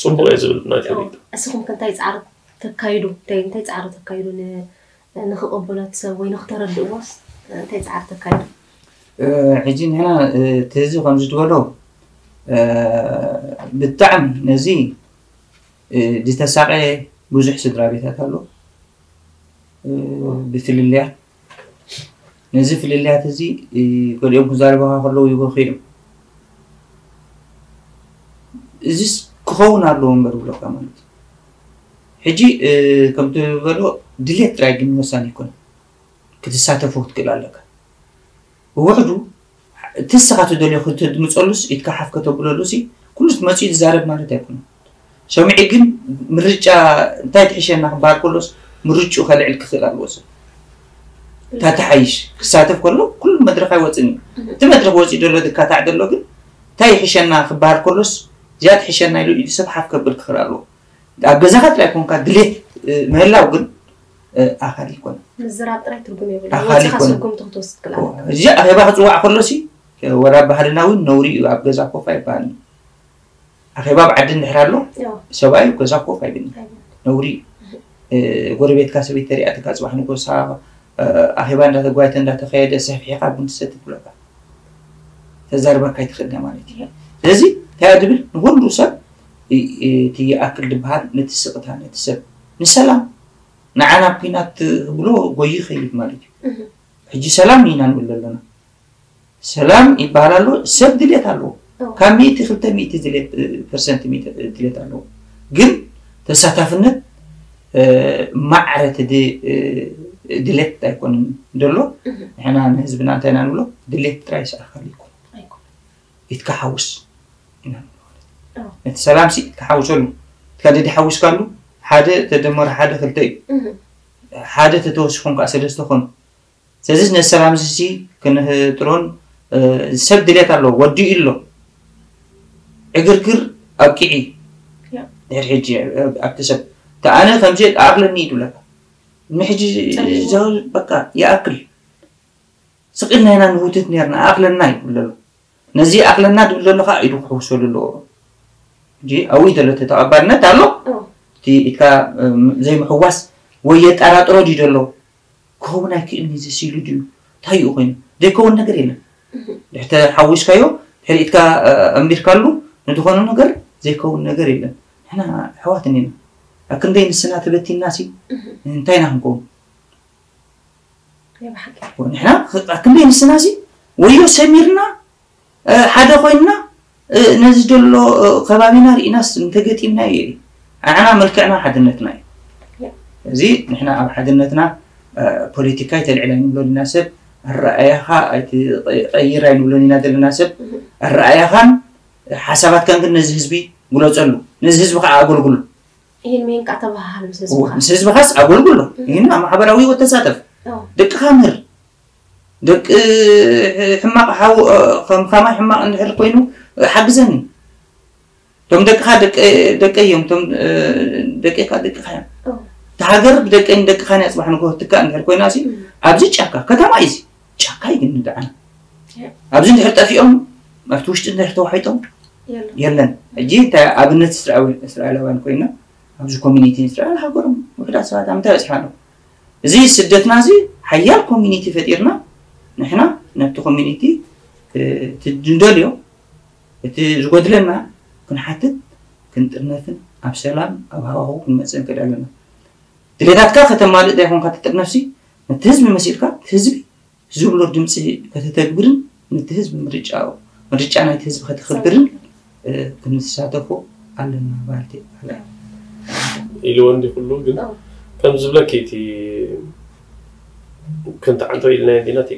ጽቡቕ እየ ዝብል ናተይ ርእይቶ። እስኹም ከ እንታይ ጻዕሪ ተካይዱ? እንታይ፣ እንታይ ጻዕሪ ተካይዱ ን-፣ ንኽቕበሎ እቲ ሰብ ወይ ንኽተረድእዎስ እንታይ ጻዕሪ ተካይዱ? እ፣ ሕጂ ንሕና፣ እ፣ እቲ ህዝቢ ከምዚ ዝበሎ፣ እ፣ ብጣዕሚ ነዚ፣ እ፣ ዝተሳቐየ ብዙሕ ስድራ ቤታት ኣሎ። እ፣ ብፍልልያት፣ ነዚ ፍልልያት እዚ፣ እ፣ ገሊኦም ክዛረቡኻ ከለዉ ይበኽዩ እዮም። እዚስ ክኸውን ኣለዎ እምበር ብለካ ማለት እዩ። ሕጂ፣ እ፣ ከምቲ ዝበሎ ድሌት ጥራይ ግን ወሳኒ ኣይኮነን። ክትሳተፎ ክትክእል ኣለካ። ብውሕዱ እቲ ንስኻ ትደልዮ ክትድምፀሉስ ኢድካ ሓፍ ከተብለሉሲ ኩሉ መፂኡ ዝዛረብ ማለት ኣይኮነን። ሰሚዑ ግን ምርጫ እንታይ ትሕሸና ክበሃል ከሎስ ምርጭኡ ከልዕል ክኽእል ኣለዎ ሰብ። እታ ትሓይሽ ክሳተፍ ከሎ ኩሉ መድረኽ ኣይወፅን እዩ። እቲ መድረኽ ወፂኡ ዘሎ ዝካታዕ ዘሎ ግን እንታይ ይሕሸና ክበሃል ከሎስ እዚኣ ትሕሸና ኢሉ ኢሉ ሰብ ሓፍ ከብል ክኽእል ኣለዎ። ኣብ ገዛኻ ጥራይ ኮንካ ድሌት፣ እ፣ ምህላው ግን፣ እ፣ ኣኻሊ ኣይኮነን። ምዝራብ ጥራይ ትርጉም የብሉን። ኣኻሊ ወፂኻ ኣይኮነን። ስጉምቲ ክትወስድ ክልኣለካ። እዚ ኣኼባ ክፅዋዕ ከሎሲ፣ እ፣ ወላ ባህልና እውን ነውሪ እዩ፣ ኣብ ገዛ ኮፍ ኣይበሃልን። ኣኼባ ኣብ ዓዲ እንድሕር ኣሎ፣ ያው። ሰብኣይ ኣብ ገዛ ኮፍ ኣይብልን። ኣይብልን። ነውሪ እዩ። እ፣ ጎረቤትካ ሰበይቲ ተሪኣትካ ጽባሕ ንጎሳ፣ እ፣ ኣኼባ እንዳተጓየተ እንዳተኸየደ ሰፊሕካ ቡን ትሰቲ ትብለካ። ተዛርበካ ኣይትኽእልን ማለት እዩ። ስለዚ እንታይ እያ ድብል ንኹሉ ሰብ እ-፣ እ-፣ እቲ ይኣክል ዝበሃል ነቲ ስቕታ፣ ነቲ ሰብ ንሰላም፣ ንዓና ኣብ ኲናት ክብሎ ጎዩ ይኸይድ ማለት እዩ። እህ። ሕጂ ሰላም ኢና ንብል ዘለና። ሰላም ይበሃል ኣሎ፣ ሰብ ድሌት ኣለዎ። እዎ። ካብ ሚእቲ ክልተ ሚእቲ ድሌት፣ እ፣ ፐርሰንት ሚእቲ ድሌት ኣለዎ። ግን ተሳታፍነት፣ እ፣ ማዕረ እቲ ድ-፣ እ፣ ድሌት ኣይኮነን ዘሎ። እህ። ንሕና ንህዝብና እንታይ ኢና ንብሎ? ድሌት ጥራይ ይስኣኻሉ ይኮን። ኣይኮነን። ኢትካ ሓውስ ኢና ንብሎ ማለት እዩ። ኣዎ። ነቲ ሰላምሲ ኢትካ ሓውሰሉ። ኢትካ ደዲ ሓዊስካሉ፣ ሓደ ተደመረ ሓደ ክልተ እዩ። እህ። ሓደ ተተወሲኾም ከዓ ሰለስተ ኾኑ። ስለዚ ነቲ ሰላምሲ ክንህጥሮን፣ እ፣ ሰብ ድሌት ኣለዎ፣ ወዲኡ ኣሎ። ዕግርግር ኣብቂዒ። ያ። ድሕሪ ሕጂ፣ እ፣ ኣብቲ ሰብ፣ "ተኣነ ከምዚ ኣኽለኒ" እዩ ዝብለካ። ንሕጂ ጸሊሙ። ዘ-፣ በቃ ይኣክል። ስቕ ኢልና ኢና ንህውትት ነርና፣ "ኣኽለና" ይብል ዘሎ። ነዚ "ኣኽለና" ዝብል ዘሎ ኸዓ ኢዱ ክሕውሰሉ ኣለዎ። ሕጂ ኣብኡ እዩ ዘሎ እቲ ተቐባልነት ኣሎ። እዎ። እቲ ኢድካ፣ እም፣ ዘይምሕዋስ ወይ የጠራጥሮ ድዩ ዘሎ? ክኸውን ኣይክእልን እዩ፣ እዚ ሲሉ ድዩ? እንታይ እዩ ኮይኑ? ዘይከውን ነገር የለን። እህ። ድሕሪ ተሓዊስካዮ፣ ድሕሪ ኢድካ፣ እ፣ ኣንቢርካሉ፣ ንዝኾነ ነገር ዘይከውን ነገር የለን። ንሕና ኣሕዋት እኒና። ኣብ ክንደይ ንስና ተበቲንና ሲ፣ እህ። እንታይ ኢና ክንከውን? ናይ ብሓቂ። ንሕና ኽ-፣ ኣብ ክንደይ ንስና ሲ፣ ወዮ ሰሚርና፣ እ፣ ሓደ ኮይንና፣ እ፣ ነዚ ዘሎ፣ እ፣ ከባቢና ርኢናስ እንተገጢምናዮ እዩ። ንዓና መልክዕና ሓድነትና እዩ። ያ። እዚ ንሕና ኣብ ሓድነትና፣ እ፣ ፖለቲካ ኣይተልዕል ኣይንብሎን ኢና ሰብ፣ ኣረኣያኻ ኣይትቐይር ኣይንብሎን ኢና ዘለና ሰብ፣ እህ። ኣረኣያኻን ሓሳባትካን ግን ነዚ ህዝቢ ግለጸሉ፣ ነዚ ህዝቢ ከዓ ኣገልግሉ። ይህን ሜንቃ ተባሃሃል ምስ እዎ፣ ህዝብኻ። ምስ ህዝብኻስ ኣገልግሎ። እህ። ይህን ኣብ ማሕበራዊ ህይወት ተሳተፍ። ኣዎ። ደቅኻ ምህር። ደቂ ሕማቕ ሓው፣ እ፣ ከም ከማይ ሕማቕ እንድሕር ኮይኑ፣ እ፣ ሓግዘኒ። እቶም ደቅኻ ደቀ-፣ ደቀይ እዮም፣ እቶም፣ እ፣ ደቂኻ ደቅኻ እዮም። ኣዎ። ሃገር ብደቀይን ደቅኻን እያ ጽባሕ ንግሆ ትካእ እንድሕር ኮይና ሲ ኣብዚ ጫካ ከተማ እዩ ሲ ጫካ እዩ ግን ንድዓና ኣብዚ እንድሕር ጠፊኦም ኣብቲ ውሽጢ እንድሕር ተዋሒጦም የለን። ሕጂ እንታይ ኣብነት እስራኤላውያን ኮይና ኣብዚ ኮሚኒቲ እስራኤል ሃገሮም ውሕዳት ሰባት ኣብ ምንታይ በፂሓ ኣለዉ? እዚ ስደትና እዚ ሓያል ኮሚኒቲ ፈጢርና ንሕና ነቲ ኮሚኒቲ እቲ ንደልዮ እቲ ዝጎድለና ክንሓትት ክንጥርነፍን ኣብ ሰላም ኣብ ሃዋሁ ክንመፅእ ንክእል ኣለና። ድሌታትካ ከተማልእ ዘይኮንካ ትጥርነፍሲ ነቲ ህዝቢ መሲልካ ህዝቢ ዝብሎ ድምፂ ከተተግብርን ነቲ ህዝቢ ምርጫ ምርጫ ናይቲ ህዝቢ ከተኽብርን ክንሳተፎ ኣለና ባልቲ ኢልዎ እንዲ ኩሉ ግን ከም ዝብለኪ እቲ ክንተዓንቶ ኢልና እንዲና እቲ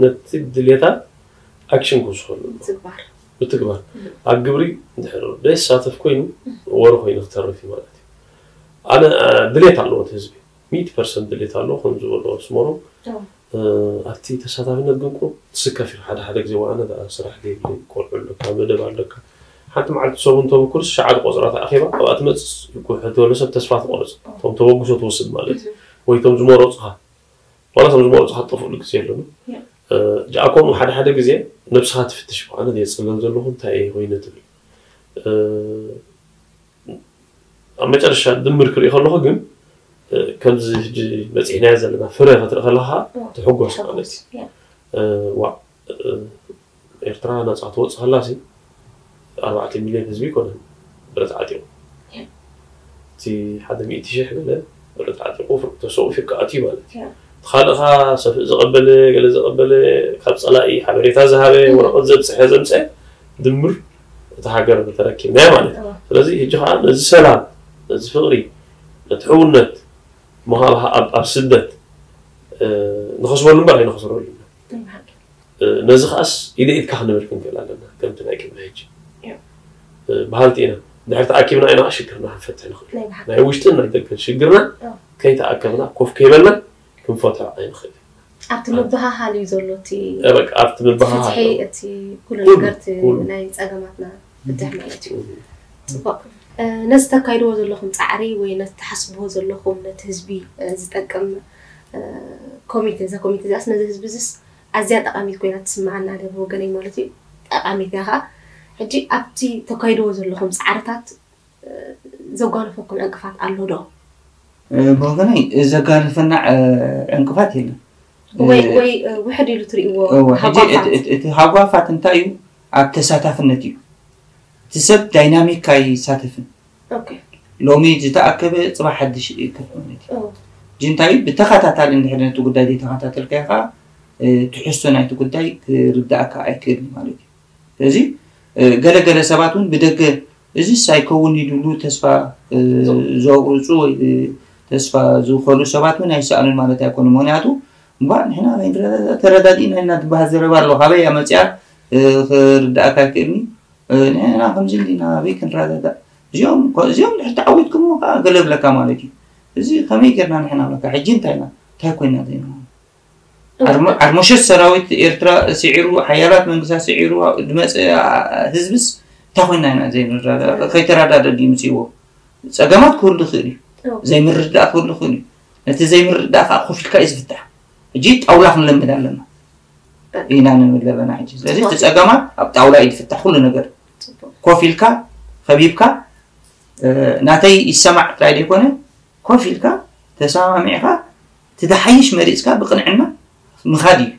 ነቲ ድሌታ ኣክሽን ክውስኸሉ ዝግባር ብትግባር ኣብ ግብሪ እንድሕር ዘይሳተፍ ኮይኑ ወረ ኮይኑ ክተርፍ እዩ ማለት እዩ። ኣነ ድሌት ኣለዎ እቲ ህዝቢ ሚእቲ ፐርሰንት ድሌት ኣለዎ ከም ዝበሎ ስመሮም ኣብቲ ተሳታፊነት ግን ቁሩብ ትስከፍ ኢኻ ሓደ ሓደ ግዜ ዋኣነ ደኣ ስራሕ ዘይብለይ ቆልዑ ኣለካ መደብ ኣለካ ሓንቲ መዓልቲ ሰሙን ተበኩርስ ሸዓተ ቆፅራ ተኣኺባ ኣብኣ ትመፅእ ጉሕት ዝበለ ሰብ ተስፋ ትቆርፅ እቶም ተበግሶ ትወስድ ማለት እዩ ወይ እቶም ዝመረፁኻ ዋላ እቶም ዝመረፁኻ ትጠፍእሉ ግዜ ኣለና ጃኣኮም ሓደ ሓደ ግዜ ነብስኻ ትፍትሽ ብኣነ ዘየፅለል ዘለኹ እንታይ እየ ኮይነ ትብል ኣብ መጨረሻ ድምር ክርኢ ከለኹ ግን ከምዚ ሕጂ በፂሕናዮ ዘለና ፍረ ክትርኢ ከለካ ትሕጎስ ማለት እዩ ዋ ኤርትራ ነፃ ትወፅእ ከላ ሲ ኣርባዕተ ሚልዮን ህዝቢ ይኮነን ብረት ዓጢቁ እቲ ሓደ ሚእቲ ሽሕ ገለ ብረት ዓጢቁ ተሰኡ ፊካ ኣትዩ ማለት እዩ ካልእካ ሰፍእ ዘቐበለ ገለ ዘቐበለ ካብ ፀላኢ ሓበሬታ ዝሃበ ወረቐት ዘብፅሐ ዘምፀ ድምር እቲ ሃገር ተረኪብናዮ ማለት እዩ ስለዚ ሕጂ ከዓ ነዚ ሰላም ነዚ ፍቕሪ ነቲ ሕውነት ምሃብ ኣብ ስደት ንኸስበሉ እምበር ኣይንኸስረሉ ኢና ነዚ ከዓስ ኢደ ኢድካ ክንብል ክንክእል ኣለና ከምቲ ናይ ቅድሚ ሕጂ በሃልቲ ኢና ድሕር ተኣኪብና ኢና ሽግርና ክንፈትሕ ንኽእል ናይ ውሽጥን ናይ ደገን ሽግርና ከይተኣከብና ኮፍ ከይበልና ክንፈትሖ ኣይንኽእል ኣብቲ ምብሃሃል እዩ ዘሎ እቲ ኣብቲ ምብሃሃል እቲ ኩሉ ነገር ናይ ፀገማትና ፍትሕ ማለት እዩ ፅቡቅ ነዚ ተካይድዎ ዘለኹም ፃዕሪ ወይ ነቲ ትሓስብዎ ዘለኹም ነቲ ህዝቢ ዝጠቅም ኮሚቴ እዛ ኮሚቴ እዚኣስ ነዚ ህዝቢ እዚስ ኣዝያ ጠቃሚት ኮይና ትስምዓና ኣነ ብወገነይ ማለት እዩ ጠቃሚት እያ ከዓ ሕጂ ኣብቲ ተካይድዎ ዘለኹም ፃዕርታት ዘጓነፈኩም ዕንቅፋት ኣሎ ዶ ብወገነይ ዘጋነፈና ዕንቅፋት የለን ወይ ወይ ውሕድ ኢሉ ትርእይዎ እቲ ሃጓፋት እንታይ እዩ ኣብ ተሳታፍነት እዩ እቲ ሰብ ዳይናሚክ ኣይሳተፍን ሎሚ ዝተኣከበ ፅባሕ ሓድሽ ይእከብ ማለት እዩ ጅንታዩ ብተኸታታሊ እንድሕር ነቲ ጉዳይ ዘይተኸታተልካዮ ከዓ ትሕዝቶ ናይቲ ጉዳይ ክርዳእካ ኣይክእልን ማለት እዩ ስለዚ ገለገለ ሰባት እውን ብደገ እዚስ ኣይከውን ይድብሉ ተስፋ ዘቁርፁ ወይ ተስፋ ዝኸሉ ሰባት እውን ኣይሰኣኑን ማለት ኣይኮኑ ምክንያቱ እባ ንሕና ተረዳዲእና ኢና ትበሃል ዘረባ ኣሎ ካበይ ኣመፅያ ክርዳእካ ይክእልኒ ንሕና ከምዚ እንዲና ኣበይ ክንረዳዳእ እዚኦም እዚኦም ድሕር ተዓዊትኩም ከዓ ገለ ብለካ ማለት እዩ እዚ ከመይ ጌርና ንሕና ብለካ ሕጂ እንታይ ኢና እንታይ ኮይና ዜና ዓርሞሸት ሰራዊት ኤርትራ ስዒሩ ሓያላት መንግስታት ስዒሩ ዝመፀ ህዝብስ እንታይ ኮይና ኢና ዘይንረዳዳእ ከይተረዳደ ድዩ ምፅእዎ ፀገማት ክህሉ ይኽእል እዩ ዘይምርዳእ ክህሉ ይኽእል እዩ ነቲ ዘይምርዳእ ከዓ ኮፍ ኢልካ እዩ ዝፍታሕ ሕጂ ጣውላ ክንለምድ ኣለና ኢና ንብል ዘለና ሕጂ ስለዚ እቲ ፀገማት ኣብ ጣውላ እዩ ዝፍታሕ ኩሉ ነገር ኮፍ ኢልካ ከቢብካ ናተይ ይሰማዕ ጥራይ ዘይኮነ ኮፍ ኢልካ ተሰማሚዕካ እቲ ዝሓይሽ መሪፅካ ብቅንዕና ምኻድ እዩ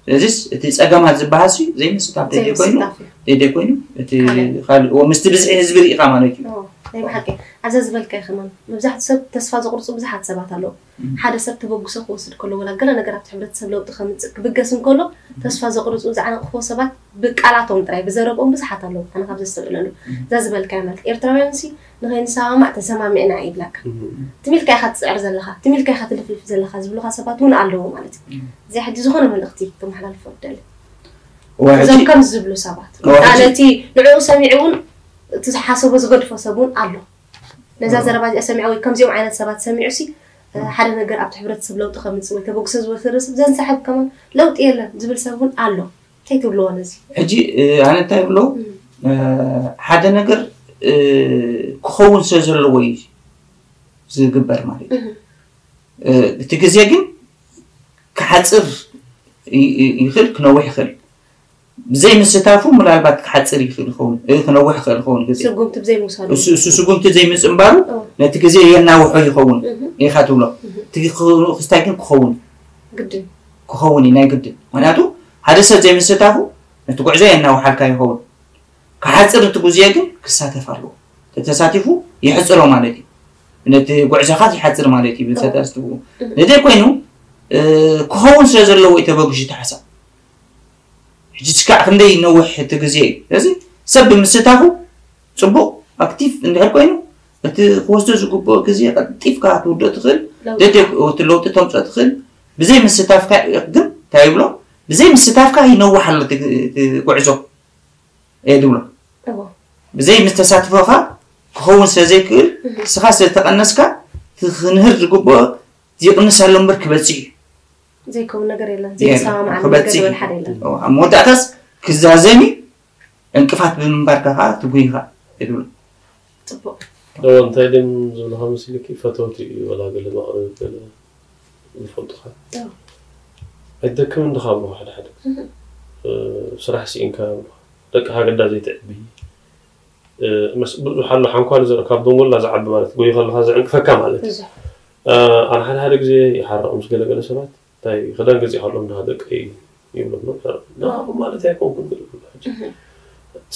ስለዚስ እቲ ፀገማት ዝበሃል ሲ ዘይምስታፍ ዘይኮይኑ ዘይኮይኑ እቲ ካልእ ምስቲ ብዝሒ ህዝቢ ርኢኻ ማለት እዩ ናይ ብሓቂ ኣብዛ ዝበልካዮ ከማን መብዛሕትኡ ሰብ ተስፋ ዘቁርፁ ብዙሓት ሰባት ኣለዉ ሓደ ሰብ ተበግሶ ክወስድ ከሎ ወላ ገለ ነገር ኣብቲ ሕብረተሰብ ለውጢ ከምፅእ ክብገስ እንከሎ ተስፋ ዘቁርፁ ዝዓንቅፍዎ ሰባት ብቃላቶም ጥራይ ብዘረብኦም ብዙሓት ኣለዉ ኣነ ካብ ዘስተብዕለሉ እዛ ዝበልካዮ ማለት ኤርትራውያን ሲ ንኸይንሰማማዕ ተሰማሚዕና ይብለካ ትሚልካ ኢኻ ትፅዕር ዘለኻ ትሚልካ ኢኻ ትልፍልፍ ዘለኻ ዝብሉኻ ሰባት እውን ኣለዉ ማለት እዩ እዚኣ ሕጂ ዝኾነ መልእኽቲ ከመሓላልፎ ደሊ እዞም ከምዚ ዝብሉ ሰባት ነቲ ንዕኡ ሰሚዑ እውን እቲ ዝሓሰቦ ዝገድፎ ሰብ እውን ኣሎ ነዛ ዘረባ እዚኣ ሰሚዑ ወይ ከምዚኦም ዓይነት ሰባት ሰሚዑ ሲ ሓደ ነገር ኣብቲ ሕብረተሰብ ለውጢ ከምፅእ ወይ ተበግሶ ዝወሰደ ሰብ ዘንሳሕብ ከማን ለውጢ የለን ዝብል ሰብ እውን ኣሎ እንታይ ትብልዎ ነዚ ሕጂ ኣነ እንታይ ብሎ ሓደ ነገር ክኸውን ስለ ዘለዎ እዩ ዝግበር ማለት እዩ። እቲ ግዜ ግን ክሓፅር ይኽእል፣ ክነውሕ ይኽእል። ብዘይ ምስታፉ ምናልባት ክሓፅር ይኽእል ይኸውን፣ ክነውሕ ይኽእል ይኸውን ግዜ። ስጉምቲ ብዘይ ምውሳዱ። እሱ ስጉምቲ ዘይምፅንባሩ ነቲ ግዜ የናውሖ ይኸውን ኢኻ ትብሎ። እቲ ክስታይ ግን ክኸውን ክኸውን እዩ ናይ ግድን። ምክንያቱ ሓደ ሰብ ዘይምስታፉ ነቲ ጉዕዞ የናውሓልካ ይኸውን። ክሓፅር እቲ ግዜ ግን ክሳተፍ ኣለዎ። ተተሳቲፉ የሕፅሮ ማለት እዩ። ነቲ ጉዕዞኻ ይሓፅር ማለት እዩ። ብተሳቲፉ ነደ ኮይኑ ክኸውን ስለ ዘለዎ እዩ ተበግሹ እቲ ሓሳብ። ሕጂ እስካዕ ክንደይ ነውሕ እቲ ግዜ እዩ። ስለዚ ሰብ ብምስታፉ ፅቡቕ ኣክቲቭ እንድሕር ኮይኑ እቲ ክወስዶ ዝግብኦ ግዜ ቀልጢፍካ ትውድኦ ትኽእል፣ ደደ እቲ ለውጢ ተምፅኦ ትኽእል። ብዘይ ምስታፍካ ግን እንታይ ይብሎ? ብዘይ ምስታፍካ ይነውሕ ኣሎ እቲ ጉዕዞ እየ ዝብሎ። ብዘይ ምስ ተሳትፎኻ ክኸውን ስለ ዘይክእል፣ ንስኻ ስለ ዝተቐነስካ እቲ ክንህር ዝግብኦ ይቕንስ ኣሎ እምበር ክበፅሕ እዩ። ዘይከውን ነገር የለን። ዘይሰማማዕ ነገር ዝበል ሓደ የለን። ኣብ መወዳእታስ ክዛዘም እዩ። ዕንቅፋት ብምንባርካ ከዓ ትጉይኻ እየ ዝብሎ። ፅቡቅ። ዶ እንታይ ድም ዝብልኻ መሲልኪ ፈተውቲ እዩ ወላ ገለ ማቕረብ ገለ ዝፈልጡኻ ኣይደክምን ድኻ ብልኻ ሓደ ሓደ ስራሕ ስኢንካ ብልኻ ደቂ ሃገዳ ዘይትዕቢ ብዙሕ ኣሎ ሓንኳል ዘር ካብ ደንጎላ ዝዓቢ ማለት ጎይ ከለኻ ዝዕንቅፈካ ማለት እዩ። ኣነ ሓደ ሓደ ግዜ ይሓረቕ ምስ ገለገለ ሰባት እንታይ ክዳን ገዚእ ከሎ እንዳ ደቀይ ይብሎ ማለት ኣይኮንኩን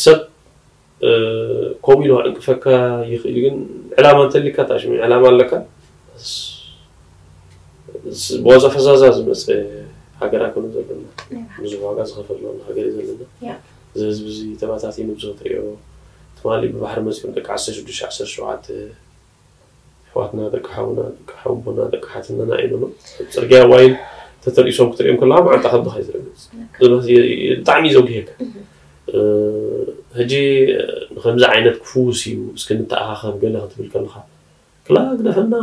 ሰብ ከምኡ ኢሉ ዕንቅፈካ ይኽእል ግን ዕላማ እንተሊካ ታሽሚ ዕላማ ኣለካ ብዋዛ ፈዛዛ ዝመፀ ሃገር ኣይኮነ ዘለና ብዙሕ ዋጋ ዝኸፈል ሃገር እዩ ዘለና እዚ ህዝቢ እዚ ተባታቲኑ ብዙሕ ትሪኦ ትማሊ ብባሕሪ መፂኦም ደቂ ዓሰርተ ሽዱሽተ ዓሰርተ ሸውዓተ ኣሕዋትና ደቂ ሓውና ደቂ ሓውቦና ደቂ ሓትነና ኢሉ ጽርግያ ዋይን ተተርኢሶም ክትሪኦም ከለካ መዓንጣ ከብድኻ ይዝረግጽ ብጣዕሚ እዩ ዘጉሄካ ሕጂ ንከምዚ ዓይነት ክፍውስ እዩ እስኪ ንተኣኻኸብ ገለ ክትብል ከለካ ክላ ግደፈና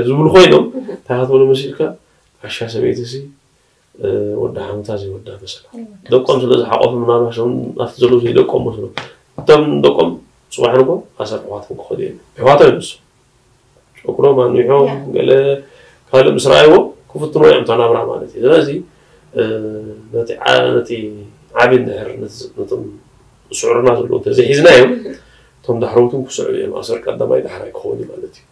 ዝብሉ ኮይኖም እንታይ ክትብሉ መሲልካ ዓሻ ሰበይቲ ሲ ወዲ ሓሙታ ዘይወዳ መሰላ ደቆም ስለ ዝሓቆፉ ምናልባት ሸም ኣብቲ ዘለዉ ዘይደቆም መስሎ እቶም ደቆም ፅባሕ ንጎ ኣሰር ኣሕዋቶም ክኸዱ እዮም ኣሕዋቶም እዮም ንሱ ጨኩሮም ኣንዊሖም ገለ ካልእ ምስ ረኣይዎ ክፍትኖ እዮም ተናብራ ማለት እዩ ስለዚ ነቲ ዓቢ እንድሕር ነቶም ስዑርና ዘለዉ እንተዘይሒዝናዮም እቶም ዳሕረውትን ክስዕቡ እዮም ኣሰር ቀዳማይ ዳሕራይ ክኸውን ማለት እዩ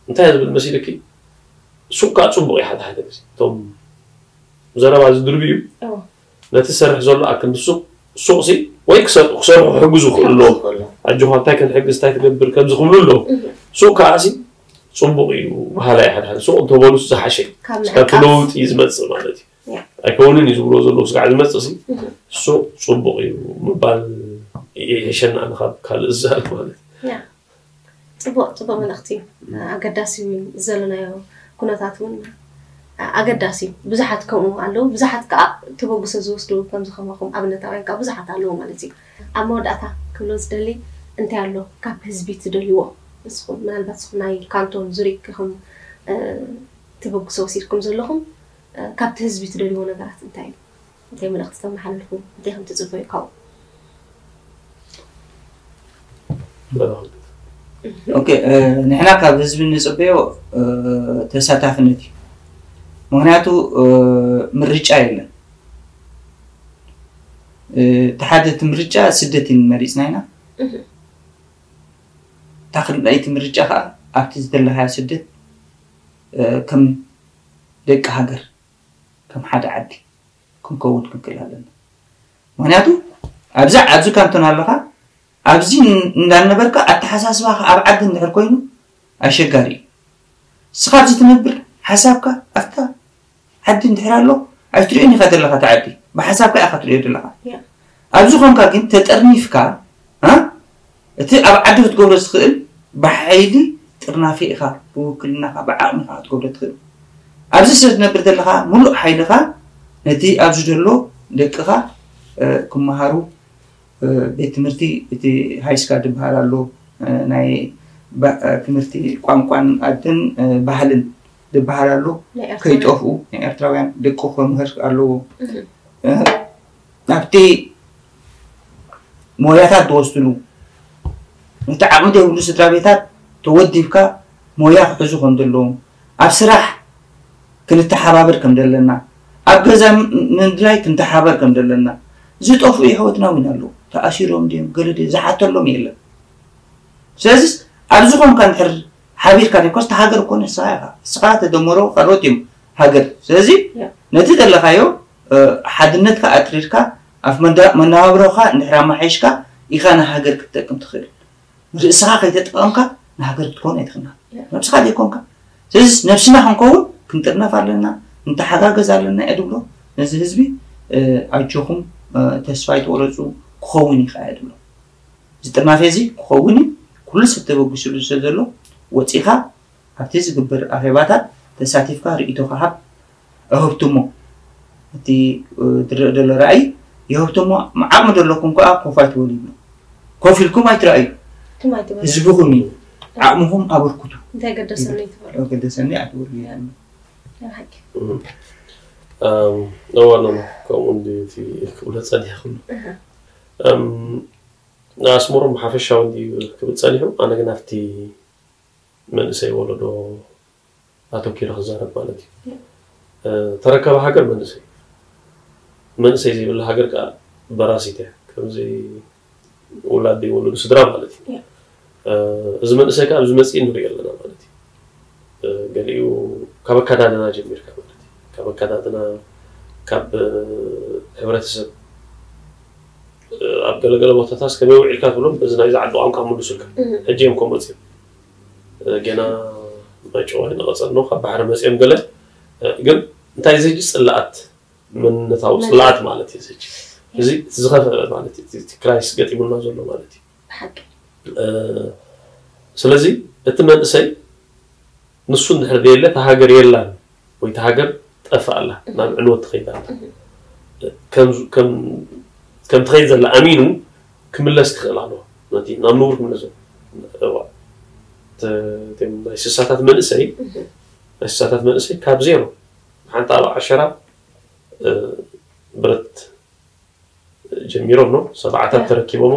እንታይ ዝብል መሲልኪ ሱቅ ከዓ ፅቡቅ እዩ ሓደ ሓደ ግዜ እቶም ዘረባ ዝድርብዩ ነቲ ዝሰርሕ ዘሎ ኣክል ንሱቅ ሱቅ ሲ ወይ ክሰርሑ ክሕግዙ ክኽእሉ ኣለዎ ኣጆኻ እንታይ ክንሕግዝ እንታይ ትገብር ከምዚ ክብሉ ኣለዎ ሱቅ ከዓ ሲ ፅቡቅ እዩ በሃላይ ሓደ ሓደ ሱቅ እንተበሉ ዝሓሸ ካብቲ ለውጢ ዝመፅእ ማለት እዩ ኣይከውንን እዩ ዝብሎ ዘለዉ ስጋዕ ዝመፅእ ሲ ሱቅ ፅቡቅ እዩ ምባል ይሕሸና ንካብ ካልእ ዝዛረብ ማለት እዩ ፅቡቅ ፅቡቅ መልእክቲ እዩ ኣገዳሲ እዩ ዘለናዮ ኩነታት እውን ኣገዳሲ እዩ ብዙሓት ከምኡ ኣለዉ ብዙሓት ከዓ ተበግሶ ዝወስዱ ከምዚ ከማኹም ኣብነታውያን ከዓ ብዙሓት ኣለዉ ማለት እዩ ኣብ መወዳእታ ክብሎ ዝደሊ እንታይ ኣሎ ካብ ህዝቢ ትደልይዎ ንስኹም ምናልባት ስኹም ናይ ካንቶን ዙሪክ ኢኹም ተበግሶ ወሲድኩም ዘለኹም ካብቲ ህዝቢ ትደልይዎ ነገራት እንታይ እዩ እንታይ መልእኽቲ ተመሓላልፉ እንታይ ከም ትፅበዩ ካብኡ ኦኬ ንሕና ካብ ህዝቢ ንፅበዮ ተሳታፍነት እዩ ምክንያቱ ምርጫ የለን እቲ ሓደ እቲ ምርጫ ስደት እዩ መሪፅና ኢና እታ ክልኣይቲ ምርጫ ከዓ ኣብቲ ዝደለካዮ ስደት ከም ደቂ ሃገር ከም ሓደ ዓዲ ክንከውን ክንክእል ኣለና ምክንያቱ ኣብዛ ኣብዚ ካንቶን ኣለካ ኣብዚ እንዳነበርካ ኣተሓሳስባካ ኣብ ዓዲ እንድሕር ኮይኑ ኣሸጋሪ እዩ ንስኻ ኣብዚ ትነብር ሓሳብካ ኣብታ ዓዲ እንድሕር ኣሎ ኣይትሪኦን ኢኻ ዘለኻ እቲ ዓዲ ብሓሳብካ ኢኻ ትሪኦ ዘለኻ ኣብዚ ኮንካ ግን ተጠርኒፍካ እቲ ኣብ ዓዲ ክትገብሮ ዝኽእል ብሓይሊ ጥርናፊ ኢኻ ብውክልናኻ ብዓቕሚኻ ክትገብሮ ትኽእል ኣብዚ ስለ ትነብር ዘለኻ ሙሉእ ሓይልኻ ነቲ ኣብዚ ዘሎ ደቅኻ ክመሃሩ ቤት ትምህርቲ እቲ ሃይስካል ዝበሃል ኣሎ ናይ ትምህርቲ ቋንቋን ኣደን ባህልን ዝበሃል ኣሎ ከይጠፍኡ ናይ ኤርትራውያን ደቂ ክምህር ኣለዎ ኣብቲ ሞያታት ዝወስድሉ ነቲ ዓቕሚ ዘይብሉ ስድራ ቤታት ተወዲብካ ሞያ ክሕዙ ከም ዘለዎም፣ ኣብ ስራሕ ክንተሓባበር ከም ዘለና፣ ኣብ ገዛ ምድላይ ክንተሓባበር ከም ዘለና። ዝጠፍኡ የሕወትና እውን ኣለዉ። ተኣሲሮም ድዮም ገለ ድዮም ዝሓተሎም የለን። ስለዚስ ኣብዚ ኾንካ እንድሕር ሓቢርካ ደይኮስ፣ እታ ሃገር እኮ ንስኻ ኢኻ። ንስኻ ተደመሮ ካልኦት እዮም ሃገር። ስለዚ ነቲ ዘለኻዮ ሓድነትካ ኣጥሪርካ ኣብ መነባብሮኻ እንድሕር ኣማሓይሽካ ኢኻ ንሃገር ክትጠቅም ትኽእል። ርእስኻ ከይተጠቐምካ ንሃገር ክትከውን ኣይትኽእልና። ነብስኻ ዘይኮንካ። ስለዚ ነብስና ክንከውን ክንጥርነፍ ኣለና፣ ንተሓጋገዝ ኣለና እየ ድብሎ። ነዚ ህዝቢ ኣጆኹም፣ ተስፋ ኣይትቆረፁ፣ ክኸውን እዩ ከዓ እየ ድብሎ። እዚ ጥርናፌ እዚ ክኸውን እዩ። ኩሉ ሰብ ተበጊስሉ ስለ ዘሎ ወፂኻ ኣብቲ ዝግበር ኣኼባታት ተሳቲፍካ ርእይቶኻ ሃብ። እህብትሞ እቲ ዝረእ ዘሎ ራእይ የህብትሞ። ዓቕሚ ዘለኩም ከዓ ኮፍ ኣይትበሉ ይብሎ። ኮፍ ኢልኩም ኣይትረኣዩ። ህዝብኹም እዩ። ዓቕምኹም ኣበርክቱ። እንታይ ገደሰኒ ትበሉ? ገደሰኒ ኣይትበሉ። እዋ ኖ፣ ከምኡ እንዲ ክብሎ ፀኒሐ ኩሉ ኣስመሮም ሓፈሻዊ እንዲ ክብል ፀኒሑ። ኣነ ግን ኣብቲ መንእሰይ ወለዶ ኣተኪረ ክዛረብ ማለት እዩ። ተረካቢ ሃገር መንእሰይ፣ መንእሰይ ዘይብላ ሃገር ከዓ በራሲት እያ። ከምዚ ውላድ ዘይወለዱ ስድራ ማለት እዩ። እዚ መንእሰይ ከዓ ኣብዚ መፅኢ ንሪኦ ኣለና ማለት እዩ። ገሊኡ ካብ ኣከዳድና ጀሚርካ ማለት እዩ። ካብ ኣከዳድና፣ ካብ ሕብረተሰብ፣ ኣብ ገለገለ ቦታታት ከመይ ውዒልካ ትብሎም በዚ ናይዚ ዓዲ ቋንቋ ምሉሱልካ። ሕጂ እዮም ከም መፅኦም ገና ማይጨዋይ ንቐፀል ነው፣ ካብ ባሕሪ መፅኦም ገለ። ግን እንታይ እዚ ሕጂ ፅላኣት፣ መንነታዊ ፅላኣት ማለት እዩ። እዚ ሕጂ እዚ ዝኸፍአ ማለት እዩ። እቲ ክራይስ ገጢሙና ዘሎ ማለት እዩ። ስለዚ እቲ መንእሰይ ንሱ እንድሕር ዘየለ እታ ሃገር የላን ወይ እታ ሃገር ጠፍእ ኣላ፣ ናብ ዕንወት ትኸይድ ኣላ። ከም ትኸይድ ዘላ ኣሚኑ ክምለስ ክኽእል ኣለዎ። ነቲ ናብ ንቡር ክምለስ እዋ ናይ ስሳታት መንእሰይ፣ ናይ ስሳታት መንእሰይ ካብ ዜሮ ሓንቲ ኣብ ዓሸራ ብረት ጀሚሮም ነው ሰብዓታት ተረኪቦም፣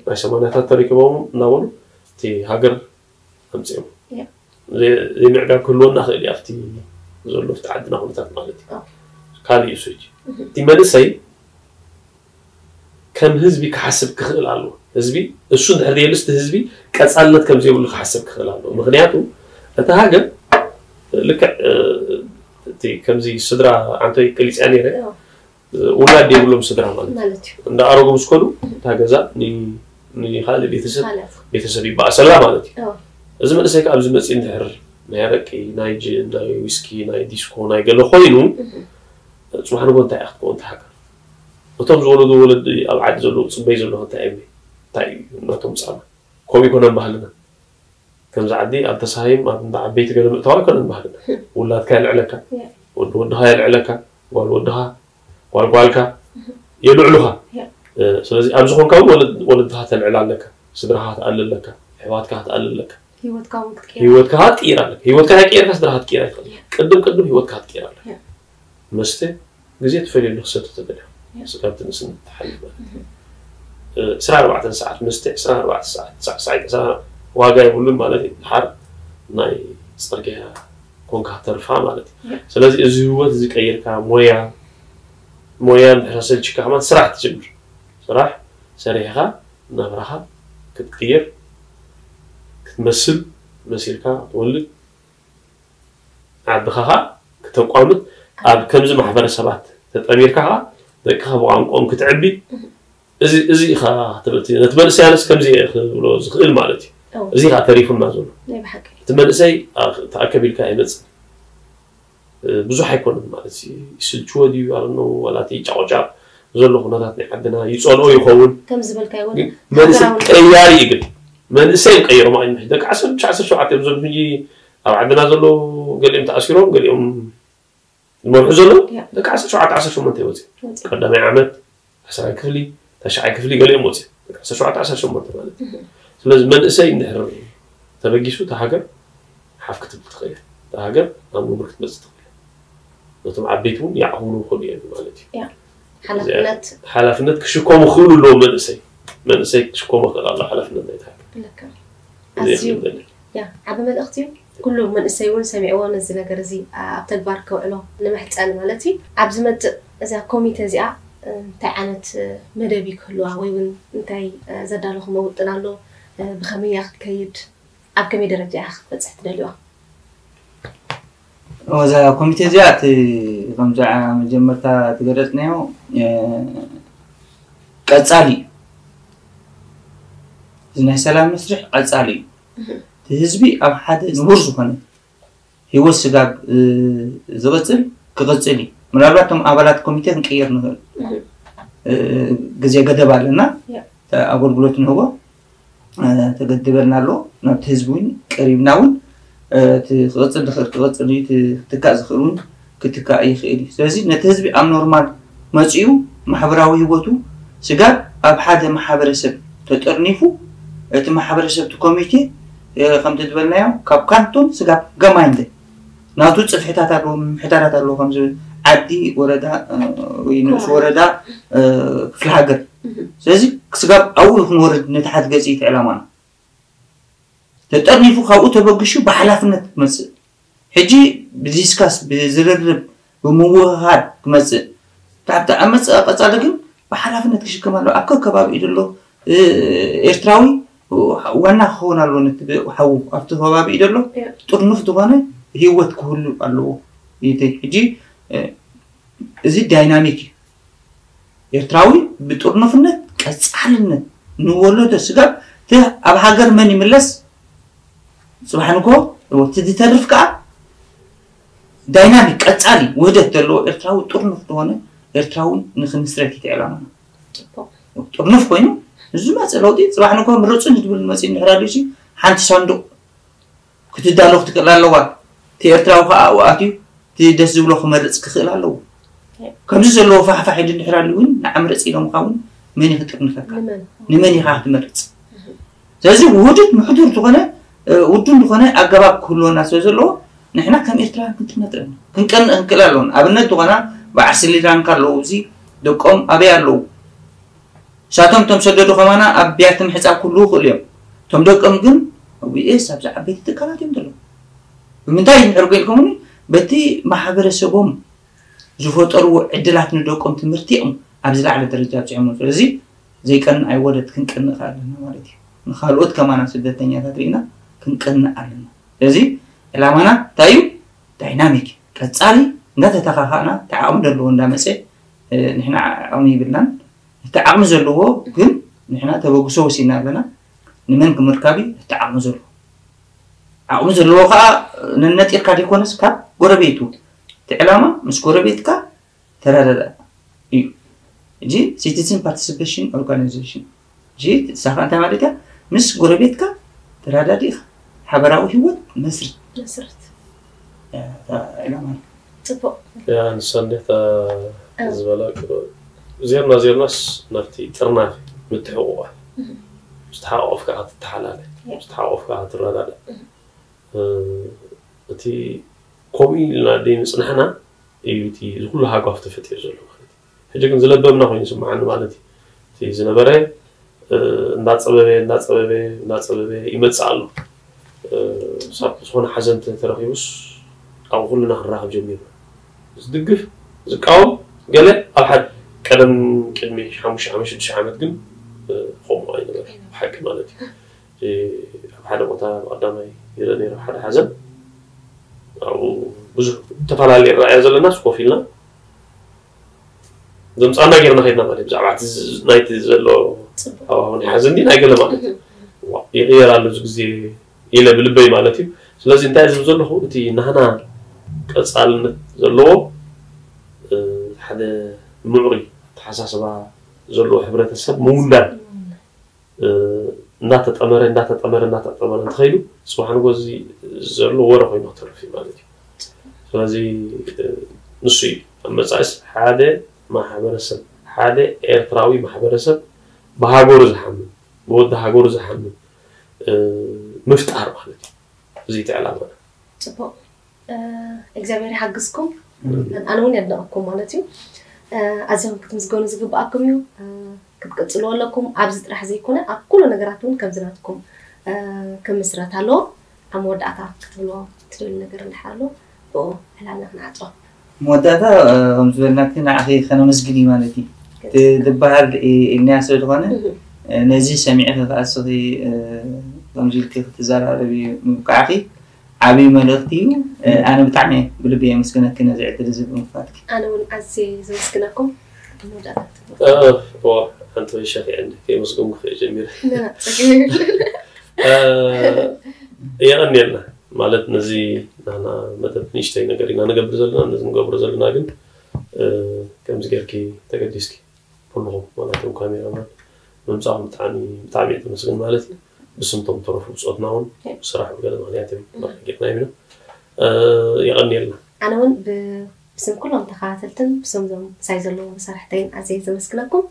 ናይ ሰማንያታት ተረኪቦም እናበሉ እቲ ሃገር ኣምፅኦም። ዘይምዕጋብ ክህልወና ክእል እዩ ኣብቲ ዘሎ ኣብቲ ዓድና ኩነታት ማለት እዩ። ካልእ እዩ ሕጂ እቲ መንእሰይ ከም ህዝቢ ክሓስብ ክኽእል ኣለዎ። ህዝቢ እሱ እንድሕር ዘየልስ እቲ ህዝቢ ቀፃልነት ከም ዘይብሉ ክሓስብ ክኽእል ኣለዎ። ምክንያቱ እቲ ሃገር ልክዕ እቲ ከምዚ ስድራ ኣንቶይ ቀሊፅያ ነይረ ውላድ የብሎም ስድራ ማለት እዩ። እንዳ ኣረጉ ምስ ከዱ እታ ገዛ ንካልእ ቤተሰብ ቤተሰብ ይበኣሰላ ማለት እዩ። እዚ መንእሰይ ከዓ ኣብዚ መፅእ እንድሕር ናይ ኣረቂ፣ ናይ ጅን፣ ናይ ዊስኪ፣ ናይ ዲስኮ፣ ናይ ገለ ኮይኑ ፅባሕ ንጎ እንታይ እያ ክትከውን እታ ሃገር? እቶም ዝወለዱ ወለዲ ኣብ ዓዲ ዘለዉ ፅበይ ዘለኹ እንታይ እዮም? እንታይ እዩ እናቶም ፃማ? ከምኡ ይኮነን ባህልና። ከምዚ ዓዲ ኣብ ተሳሂም ኣብ እንዳ ዓበይቲ ገለ ምእታው ኣይኮነን ባህልና። ውላድካ የልዕለካ፣ ወዲ ወድኻ የልዕለካ፣ ጓል ወድኻ፣ ጓል ጓልካ የልዕሉኻ። ስለዚ ኣብ ዝኾንካ እውን ወለድኻ ተልዕል ኣለካ፣ ስድራኻ ትኣሊ ኣለካ፣ ኣሕዋትካ ክትኣሊ ኣለካ። ህይወትካ ክትቅይር ኣለካ። ህይወትካ ተቀይርካ ስድራኻ ክትቅይር ኣይትኽእል። ቅድም ቅድም ህይወትካ ክትቅይር ኣለካ። መስተ ግዜ ትፈልየሉ ክሰቲ ተደልዮ ስጋብ ትንእስነት ትሓልፍ ማለት እዩ። ዕስራን ኣርባዕተን ሰዓት መስተ ዕስራን ኣርባዕተ ሰዓት ሳዕሳዒ ዕስራ ዋጋ የብሉን ማለት እዩ። ድሓር ናይ ፅርግያ ኮንካ ተርፋ ማለት እዩ። ስለዚ እዚ ህይወት እዚ ቀይርካ ሞያ ሞያ እንድሕር ሰልችካ ከማን ስራሕ ትጅምር። ስራሕ ሰሪሕካ ናብራኻ ክትቅይር ክትመስል መሲልካ ትወልድ ዓድኻ ከዓ ክተቋምት ኣብ ከምዚ ማሕበረሰባት ተጠሚርካ ከዓ ደቅኻ ብቋንቋኦም ክትዕቢ እዚ እዚ ኢኻ ትብል ነቲ መንእሰይ ኣነስ ከምዚ እየ ክብሎ ዝኽእል ማለት እዩ። እዚ ከዓ ተሪፉና ዘሎ እቲ መንእሰይ ተኣከብ ኢልካ ኣይመፅእ ብዙሕ ኣይኮነን ማለት ይስልችዎ ድዩ ኣረኖ ዋላ እቲ ጫቆጫቅ ዘሎ ኩነታት ናይ ዓድና ይፀልኦ ይኸውን። ከም ዝበልካዮ እውን ግን መንእሰይ ሃገራዊ ቀያሪ እዩ። ግን መንእሰይ ቀይሮም ኣይንሕ ደቂ ዓሰርተ ትሽዓተ ዓሰርተ ሸውዓተ እዮም። እዞም ሕጂ ኣብ ዓድና ዘለዉ ገሊኦም ተኣሲሮም ገሊኦም ዝመርሑ ዘለዉ ያ። ደቂ ዓሰርተ ሸውዓተ ዓሰርተ ሸሞንተ ይወፅእ ወፂ። ቀዳማይ ዓመት ዓስራይ ክፍሊ ተሽዓይ ክፍሊ ገሊኦም ወፅእ ደቂ ዓሰርተ ሸውዓተ ዓሰርተ ሸሞንተ ማለት እዩ። ስለዚ መንእሰይ እንድሕር ተበጊሱ እታ ሃገር ሓፍ ክትብል ትኽእል እያ። እታ ሃገር ናብ ንቡር ክትመፅእ ትኽእል እያ። ነቶም ዓበይቲ እውን ይዓቕብሉ ይኽእሉ እዮም ማለት እዩ። ያ። ሓላፍነት ሓላፍነት ክሽከሙ ክኽእሉ ኣለዎ። መንእሰይ መንእሰይ ክሽከሞ ክኽእል ኣሎ ሓላፍነት ናይቲ ሃገር። ልክዕ። ኣዝዩ ያ ዓቢ መልእኽቲ እዩ። ኩሉ መንእሰይ እውን ሰሚዕዎ ነዚ ነገር እዚ ኣብ ተግባር ከውዕሎ ንምሕጸን ማለት እዩ። ኣብ ዝመጽእ እዛ ኮሚቴ እዚኣ እንታይ ዓይነት መደብ እዩ ክህልዋ ወይ እውን እንታይ ዘዳለኹሞ ውጥን ኣሎ? ብኸመይ እያ ክትከይድ? ኣብ ከመይ ደረጃ እያ ክትበጽሕ ትደልዋ? እዛ ኮሚቴ እዚኣ እቲ ከምዚ መጀመርታ ትገለጽናዮ ቀጻሊ እዩ። እዚ ናይ ሰላም መስርሕ ቀጻሊ እዩ። እቲ ህዝቢ ኣብ ሓደ ንቡር ዝኾነ ህይወት ስጋብ ዝቕጽል ክቕጽል እዩ። ምናልባት እቶም ኣባላት ኮሚቴ ክንቀይር ንኽእል። ግዜ ገደብ ኣለና። ኣገልግሎት ንህቦ ተገድበልና ኣሎ። ናብቲ ህዝቢ እውን ቀሪብና እውን እቲ ክቕጽል ዝኽእል ክቕጽል እዩ፣ እቲ ክትካእ ዝኽእል እውን ክትካእ ይኽእል እዩ። ስለዚ ነቲ ህዝቢ ኣብ ኖርማል መጺኡ ማሕበራዊ ህይወቱ ስጋብ ኣብ ሓደ ማሕበረሰብ ተጠርኒፉ እቲ ማሕበረሰብ እቲ ኮሚቴ ከምቲ ዝበልናዮ ካብ ካንቶን ስጋብ ገማይንደ ናቱ ጽፍሕታት ኣለዎ፣ ምምሕዳራት ኣለዎ፣ ከምዚ ዓዲ፣ ወረዳ ወይ ንኡስ ወረዳ፣ ክፍለ ሃገር። ስለዚ ስጋብ ኣብኡ ክንወርድ ነቲ ሓድ ገጽ እቲ ዕላማና ተጠርኒፉ ካብኡ ተበግሹ ብሓላፍነት ክመጽእ ሕጂ ብዲስካስ ብዝርርብ ብምውህሃድ ክመጽእ ካብቲ ኣብ መጽእ ቀጻሊ ግን ብሓላፍነት ክሽከም ኣለዎ። ኣብ ከከባቢኡ ዘሎ ኤርትራዊ ዋና ክኸውን ኣለዎ። ነቲ ሓዉ ኣብቲ ከባቢኡ ዘሎ ጥርኑፍ ዝኾነ ህይወት ክህሉ ኣለዎ። ይእቲ ሕጂ እዚ ዳይናሚክ እዩ። ኤርትራዊ ብጥርኑፍነት ቀጻልነት ንወለዶ ስጋብ እቲ ኣብ ሃገር መን ይምለስ ጽባሕ ንግሆ እቲ ዝተርፍ ከኣ ዳይናሚክ ቀጻሊ ውህደት ዘለዎ ኤርትራዊ ጥርኑፍ ዝኾነ ኤርትራዊ ንክንስረት እዩ ዕላማና። ጥርኑፍ ኮይኑ ንዝመጽእ ለውጢ ጽባሕ ንግሆ ምረጹኒ ዝብል መጺኡ እንድሕር ኣልዩሲ ሓንቲ ሳንዱቕ ክትዳሎ ክትክእል ኣለዋ። እቲ ኤርትራዊ ከኣ ኣብኡ ኣትዩ እቲ ደስ ዝብሎ ክመርጽ ክኽእል ኣለዎ። ከምዚ ዘለዎ ፋሕፋሕ ኢሉ እንድሕር ኣልዩ እውን ንዓ ምረጽ ኢሎምኻ እውን መን እዩ ክጥርንፈካ? ንመን ኢኻ ክትመርጽ? ስለዚ ውህዱድ ምሕዱር ዝኾነ ውዱን ዝኾነ ኣገባብ ክህልወና ስለ ዘለዎ ንሕና ከም ኤርትራውያን ክንጥርነፍ ኣለና። ክንቀንእ ክንክእል ኣለዎን ኣብነት ዝኾና በዓል ስሪላንካ ኣለዉ። እዚ ደቆም ኣበይ ኣለዉ? ንሳቶም እቶም ሰደዱ ከማና ኣብ ቢያቲ ምሕጻብ ክህልዉ ይኽእሉ እዮም። እቶም ደቆም ግን ኣብ ዩኤስ ኣብዚ ዓበይቲ ትካላት እዮም ዘለዉ። ብምንታይ እንድሕር ጎልኩምኒ በቲ ማሕበረሰቦም ዝፈጠርዎ ዕድላት ንደቆም ትምህርቲ እዮም ኣብ ዝለዓለ ደረጃ ኣብፂሖሞ። ስለዚ ዘይቀንእ ኣይወለድ ክንቀንእ ከኣ ኣለና ማለት እዩ። ንካልኦት ከማና ስደተኛታት ርኢና ክንቀንእ ኣለና። ስለዚ ዕላማና እንታይ እዩ? ዳይናሚክ ቀጻሊ እንዳተተኻኻእና እቲ ዓቕሚ ዘለዎ እንዳመፀ ንሕና ዓቕሚ ይብልናን እቲ ዓቕሚ ዘለዎ ግን ንሕና ተበግሶ ወሲድና ኣለና። ንመን ክምርካብ እዩ? እቲ ዓቕሚ ዘለዎ ዓቕሚ ዘለዎ ከዓ ነነጢርካ ዘይኮነስ ካብ ጎረቤቱ እቲ ዕላማ ምስ ጎረቤትካ ተረዳዳ እዩ። እዚ ሲቲዝን ፓርቲሲፔሽን ኦርጋናይዜሽን እዚ ሳኻ እንታይ ማለት እያ? ምስ ጎረቤትካ ተረዳዲእካ ሓበራዊ ህይወት መስርት መስርት ዕላማ። ፅቡቅ። ያ ንሳ እንዴታ ዝበላ ዜርና ዜርናስ ናብቲ ጥርናፊ ምትሕቁቋ ዝተሓቆፍካ ክትተሓላለ ዝተሓቆፍካ ክትረዳዳ እቲ ከምኡ ኢልና ደይ ምፅናሕና እዩ እቲ እዚ ኩሉ ሃጓፍ ተፈጢሩ ዘሎ ማለት እዩ። ሕጂ ግን ዝለበምና ኮይኑ ይስምዓኒ ማለት እዩ። እቲ ዝነበረ እንዳፀበበ እንዳፀበበ እንዳፀበበ ይመፅእ ኣሎ። ሳብ ዝኾነ ሓዘን ተረኺቡስ ኣብ ኩልና ክንራኸብ ጀሚርና። ዝድግፍ ዝቃወም ገለ ኣብ ሓደ ቀደም ቅድሚ ሓሙሽተ ዓመት ሽዱሽተ ዓመት ግን ከምኡ ኣይነበረ ብሓቂ ማለት እዩ። ኣብ ሓደ ቦታ ቀዳማይ ይረ ነይረ ሓደ ሓዘን ኣብኡ ብዙሕ ተፈላለየ ራእያ ዘለና ኮፍ ኢልና ዘምፃና ጌርና ከድና ማለት ብዛዕባ ናይቲ ዘሎ ሃዋሁ ናይ ሓዘን ናይ ገለ ማለት ይቕየር ኣሎ እዚ ግዜ ኢለ ብልበይ ማለት እዩ። ስለዚ እንታይ ዝብ ዘለኹ እቲ ናህና ቀፃልነት ዘለዎ ሓደ ምዕሩይ ተሓሳስባ ዘለዎ ሕብረተሰብ ምውንዳን እናተጠመረ እናተጠመረ እናተጠመረ እንተኸይዱ ፅባሕ ንጎ እዚ ዘሎ ወረ ኮይኑ ክተርፍ እዩ ማለት እዩ። ስለዚ ንሱ እዩ ኣብ መፃኢስ ሓደ ማሕበረሰብ ሓደ ኤርትራዊ ማሕበረሰብ ብሃገሩ ዝሓምን ብወዲ ሃገሩ ዝሓምን ምፍጣር ማለት እዩ። እዚ እቲ ዕላማና። ፅቡቅ እግዚኣብሔር ይሓግዝኩም። ኣነ እውን የድንቐኩም ማለት እዩ። ኣዚኹም ክትምስገኑ ዝግብኣኩም እዩ። ክትቅፅልዎ ኣለኩም። ኣብዚ ጥራሕ ዘይኮነ ኣብ ኩሉ ነገራት እውን ከምዚ ናትኩም ክምስረት ኣለዎ። ኣብ መወዳእታ ክትብልዎ ትደልዩ ነገር እንድሕር ኣሎ ብኡ ዕላልና ክንዓፅኦ። መወዳእታ ከም ዝበልናኪ ንዓኺ ከነመስግን እዩ ማለት እዩ። ትበሃል ኢልናያ ስለ ዝኾነ ነዚ ሰሚዕኺ ከኣ እስኺ ከምዚ ኢልኪ ክትዘራረቢ ምብቃዕኪ ዓብዪ መልእኽቲ እዩ። ኣነ ብጣዕሚ ብልቢ የመስግነኪ ነዚ ዕድል እዚ ብምኽፋትኪ። ኣነ እውን ኣዝየ ዘመስግነኩም። መወዳእታ ክትብሉ ዋ ሓንቲ ወይ ሸኺዐኒ ከየመስገንኩ ክየ ጀሚረ። ጸገም የብሉን። የቐንየልና ማለት ነዚ ናና መደብ ንእሽተይ ነገር ኢና ንገብር ዘለና። ነዚ ንገብሮ ዘለና ግን ከምዚ ጌርኪ ተገዲስኪ ኩልኹም ማለት ውን ካሜራማን ምምፃኹም ብጣዕሚ ብጣዕሚ እየ ተመስግን ማለት እዩ። ብስምቶም ተረፉ ብፆትና እውን ስራሕ ብገለ ምክንያት እዮም መርቂቕና ኢና። የቐንየልና። ኣነ እውን ብስም ኩሎም ተኸታተልትን ብስም ዞም ምሳይ ዘለዉ መሳርሕተይን ኣዝየ ዘመስግነኩም።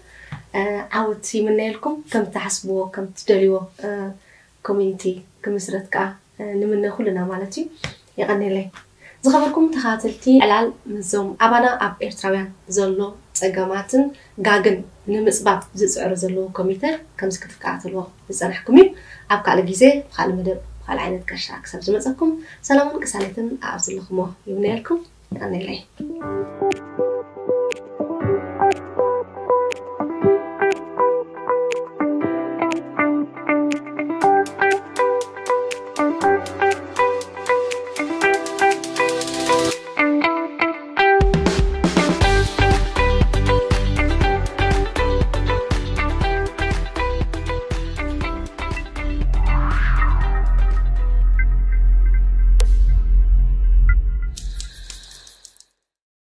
ዓወት ይምነየልኩም። ከም ትሓስብዎ ከም ትደልይዎ ኮሚኒቲ ክምስረት ከዓ ንምነ ኩልና ማለት እዩ። የቐንየለይ። ዝኸበርኩም ተኸታተልቲ ዕላል ምስዞም ኣባና ኣብ ኤርትራውያን ዘሎ ጸገማትን ጋግን ንምጽባብ ዝጽዕሩ ዘለዉ ኮሚተ ከምዚ ክትከታተልዎ ዝጸናሕኩም እዩ። ኣብ ካልእ ግዜ ብኻልእ መደብ ብኻልእ ዓይነት ቀሻ ክሳብ ዝመጸኩም ሰላምን ቅሳነትን ኣብ ዘለኹሞ ይምነየልኩም። የቐንየለይ።